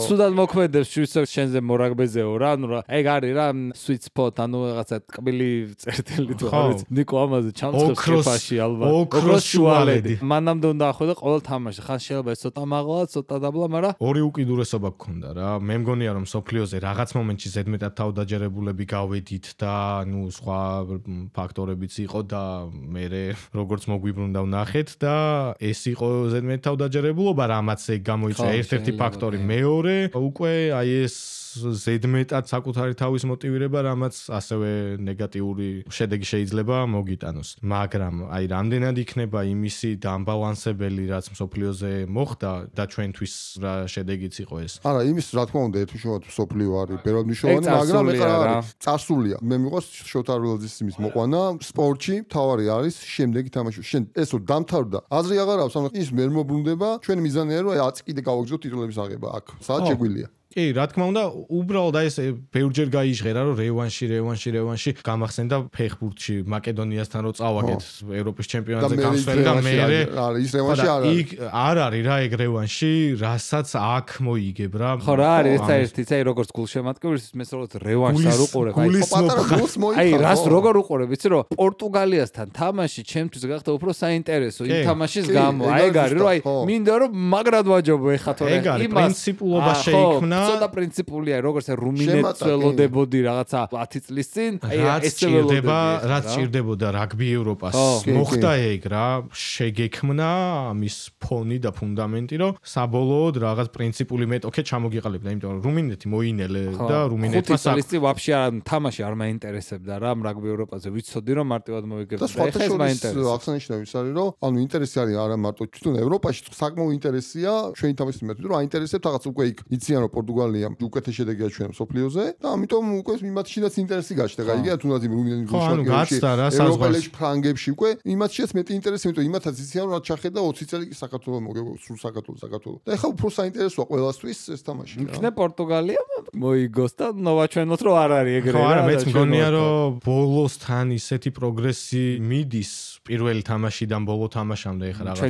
სუდად მოქმედებს შენზე მორაგბეზეო რა, ანუ რა, ეგ არის რა sweet spot, ანუ რაღაცა ტკბილი წერტილი თუ არის. ნიკო ამაზე ჩამწევს კეფაში ალბათ. ოქროს შუალედი. მანამდე უნდა ახვედე ყოველ თამაში. ხან შეიძლება ეს ცოტა მაღლა, ცოტა დაბლა, მაგრამ ორი უკიდურესობა გქონდა რა. მე მგონია რომ სოფლიოზე რაღაც მომენტში ზედმეტად თავდაჯერებულები გავედით და ნუ სხვა ფაქტორებიც იყო და მე როგორც მოგვიბრუნდა ვნახეთ და ეს იყო ზედმეტად თავდაჯერებულობა, რამაც ეგ გამოიწვია ერთ-ერთი ფაქტორი. მეორე უკვე აი ეს ზედმეტად საკუთარი თავის მოტივირება, რამაც ასევე ნეგატიური შედეგი შეიძლება მოგიტანოს. მაგრამ აი რამდენად იქნება იმისი დამბალანსებელი, რაც მსოფლიოზე მოხდა და ჩვენთვის რა შედეგიც იყო ეს. არა, იმის რა თქმა უნდა, ერთუშევად მსოფლიო არის ბევრად მნიშვნელოვანი, მაგრამ ეხლა წარსულია. მე მიყვარს შოთა რუელძის იმის მოყვანა სპორტში, თავარი არის შემდეგი თამაში. შენ ესო დამთავრდა. აზრი აღარ აქვს, ანუ ის ვერ მოbrunდება, ჩვენ მიზანია რომ აი 10 კიდე გავაგზავნოთ ტიტულების აღება აქ. სადაც შეგვიძლია. კი, რა თქმა უნდა, უბრალოდ აი ეს ბევრჯერ გაიჟღერა, რომ რევანში გამახსენდა ფეხბურთში მაკედონიასთან რო წავაგეთ ევროპის ჩემპიონატზე გამსვლელი და მე ის რევანში არ არის რა ეგ რევანში, რასაც აქ მოიგებ რა. ხო რა არის ეს ერთიც, აი როგორც გულშემატკივრის მე სწორად რევანშს არ უყურებ, აი რას როგორ უყურებ, იცი რომ პორტუგალიასთან თამაში ჩემთვის გახდა უფრო საინტერესო იმ თამაშის გამო. აი ეგ არის რომ აი მინდა რომ მაგრად ვაჯობო ეხა თორე იმას პრინციპულობა შეიქმნა ცოტა პრინციპულია, როგორც რუმინეთს ველოდებოდი რაღაცა 10 წლის წინ, აი ეს ველოდება, რაც ჭირდებოდა რაგბი ევროპას. მოხდა ეგ რა, შეგექმნა ამის ფონი და ფუნდამენტი, რომ საბოლოოდ რაღაც პრინციპული მეტოქე ჩამოგიყალიბდა, იმიტომ რომ რუმინეთი მოინელე და რუმინეთმა 5 წლის წინ ვაფშე არ თამაში არ მაინტერესებდა რა, რაგბი ევროპაზე ვიცოდი რომ მარტივად მოვიგებ და ეხლა ეს მაინტერესებს. აღსანიშნავი ის არის, რომ ანუ ინტერესი არის არა მარტო თვითონ ევროპაში, საკმაოდ ინტერესია ჩვენი თამაშის მიმართ, რომ აინტერესებთ რაღაც უკვე იქ იციან რომ პორტუგალია უკეთეს შედეგია ჩვენ სოფლიოზე და ამიტომ უკვე იმათშიც ინტერესი გაჩნდა. გაიგე თუნდაც იმ რუმინეთის გულშემატკივრებში ევროპელებში ფრანგებში უკვე იმათშიც მეტი ინტერესი, იმიტომ იმათაც იციან რომ ჩახედა 20 წელი საქართველოს მოგება სულ საქართველოს. და ეხლა უფრო საინტერესოა ყველასთვის ეს თამაში. იქნე პორტუგალია მოიგოს და ნოვაჩვენოთ რომ არ არის ეგრე რა. ხო არა, მეც მგონია რომ ბოლოსთან ისეთი პროგრესი მიდის პირველი თამაშიდან ბოლო თამაშამდე ეხლა რაღაც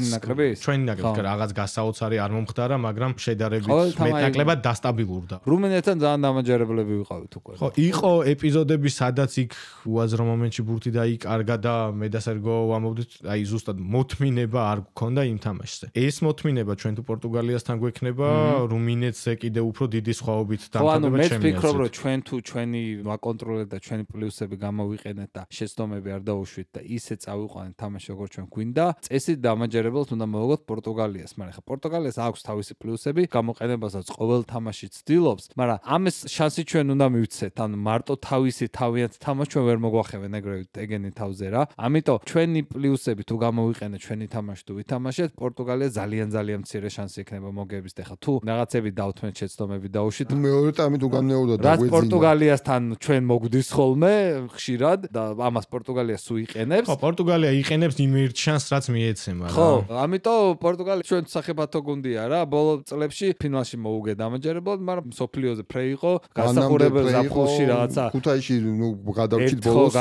ჩვენი ნაკრები რაღაც გასაოცარი არ მომხდარა, მაგრამ შედარებით მეტნაკლებად დასტაბილურდა. რუმინეთთან ძალიან დამაჯერებლები ვიყავით უკვე. ხო, იყო ეპიზოდები, სადაც იქ უაზრო მომენტში ბურთი დაიკარგა და მე და სერგო ვამბობდით, აი ზუსტად მოთმინება არ გქონდა იმ თამაშზე. ეს მოთმინება ჩვენ თუ პორტუგალიასთან გვექნება, რუმინეთზე კიდე უფრო დიდი სხვაობით დამთავრდება ჩემი აზრით. მე ვფიქრობ, რომ ჩვენ თუ ჩვენი ვაკონტროლეთ და ჩვენი პლუსები გამოვიყენეთ და შეცდომები არ დაუშვით და ისე წავიყვანეთ თამაში როგორც ჩვენ გვინდა, წესით დამაჯერებელთ უნდა მოვაგოთ პორტუგალიას, მაგრამ ხა პორტუგალიას აქვს თავისი პლუსები, გამოყენებასაც ყოველ თამაში თამაში ცდილობს, მაგრამ ამის შანსი ჩვენ უნდა მივცეთ. ანუ მარტო თავისი თავიანთ თამაში ჩვენ ვერ მოგვახევენ ეგრევე ეგენი თავზე რა. ამიტომ ჩვენი პლუსები თუ გამოვიყენეთ ჩვენი თამაში თუ ვითამაშეთ, პორტუგალია ძალიან მცირე შანსი ექნება მოგების. ეხლა თუ რაღაცები დავთმეთ, შეცდომები დაუშვით. მეორე ტამი თუ განმეორდა და გვეძინა. რაც პორტუგალიასთან ჩვენ მოგვდის ხოლმე ხშირად და ამას პორტუგალია სულ იყენებს. ხო, პორტუგალია იყენებს იმ ერთ შანსს, რაც მიეცემა რა. ხო, ამიტომ პორტუგალია ჩვენ სახებათო გუნდია რა. ბოლო წლებში ფინალში მოუგე დამაჯერებლად, მაგრამ სოფლიოზე ფრე იყო, გასახურებელ ზაფხულში რაღაცა. ქუთაისში ნუ გადავჭით ბოლოს.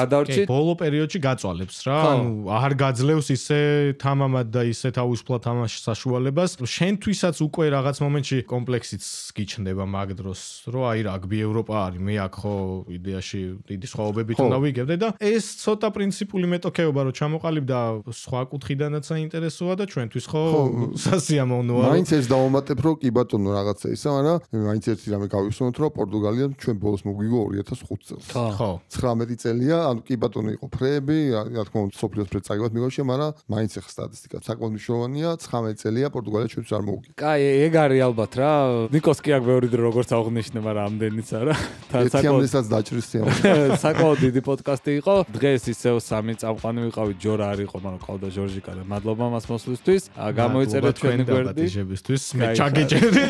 ბოლო პერიოდში გაწვალებს რა. ანუ არ გაძლევს ისე თამამად და ისე თავისუფლად თამაშის საშუალებას. შენთვისაც უკვე რაღაც მომენტში კომპლექსიც გიჩნდება მაგ დროს, რომ აი რაგბი ევროპა არის, მე აქ ხო იდეაში დიდი სხვაობებით უნდა ვიგებდე და ეს ცოტა პრინციპული მეტოქეობა რომ ჩამოყალიბდა სხვა კუთხიდანაც საინტერესოა და ჩვენთვის ხო სასიამოვნოა. მაინც ეს დავამატებ რომ კი ბატონო რაღაცა ისა, მაგრამ მაინც ერთი რამე გავიხსენოთ რომ პორტუგალია ჩვენ ბოლოს მოგვიგო 2005 წელს. ხო. 19 წელია, ანუ კი ბატონო იყო ფრეები, რა თქმა უნდა სოფლიოს ფრე წაგებად მიგოშე, მაგრამ მაინც ახლა სტატისტიკა საკმაოდ მნიშვნელოვანია, 19 წელია პორტუგალია ჩვენთვის არ მოუგია. კაი, ეგ არის ალბათ რა. ნიკოს კი აქ ბევრი დრო როგორც აღნიშნე, მაგრამ ამდენიც არა. თამაშსაც დაჭრის სიამოვნებაა. საკმაოდ დიდი პოდკასტი იყო. დღეს ისევ სამი წამყვანი ვიყავით, ჯორა არ იყო, მაგრამ ყავდა ჟორჟიკა და მადლობა მას მოსვლისთვის. გამოიწერეთ ჩვენი გვერდი. მე ჩაგეჭერდი.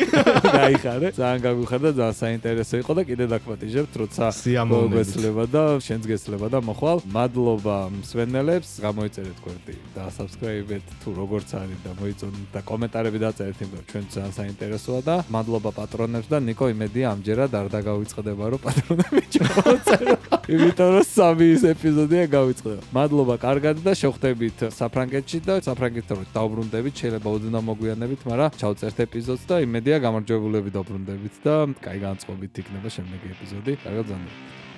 გაიხარე. ძალიან გაგვიხარდა, ძალიან საინტერესო იყო და კიდე დაგვატიჟებთ, როცა მოგესლება და შენც გესლება და მოხვალ. მადლობა მსვენელებს, გამოიწერეთ გვერდი და subscribe-ეთ თუ როგორც არის და მოიწონეთ და კომენტარები დაწერეთ, იმიტომ ჩვენ ძალიან საინტერესოა და მადლობა პატრონებს და ნიკო იმედია ამჯერად არ დაგავიწყდება რომ პატრონები ჩავწერო. იმიტომ რომ სამი ეპიზოდია გავიწყდება. მადლობა კარგად და შევხვდებით საფრანგეთში და საფრანგეთთან დავბრუნდებით, შეიძლება ოდნა მოგვიანებით, მაგრამ ჩავწერთ ეპიზოდს და იმედია გამარჯვებულები დავბრუნდებით და კაი განწყობით იქნება შემდეგი ეპიზოდი. კარგად ზანდებთ.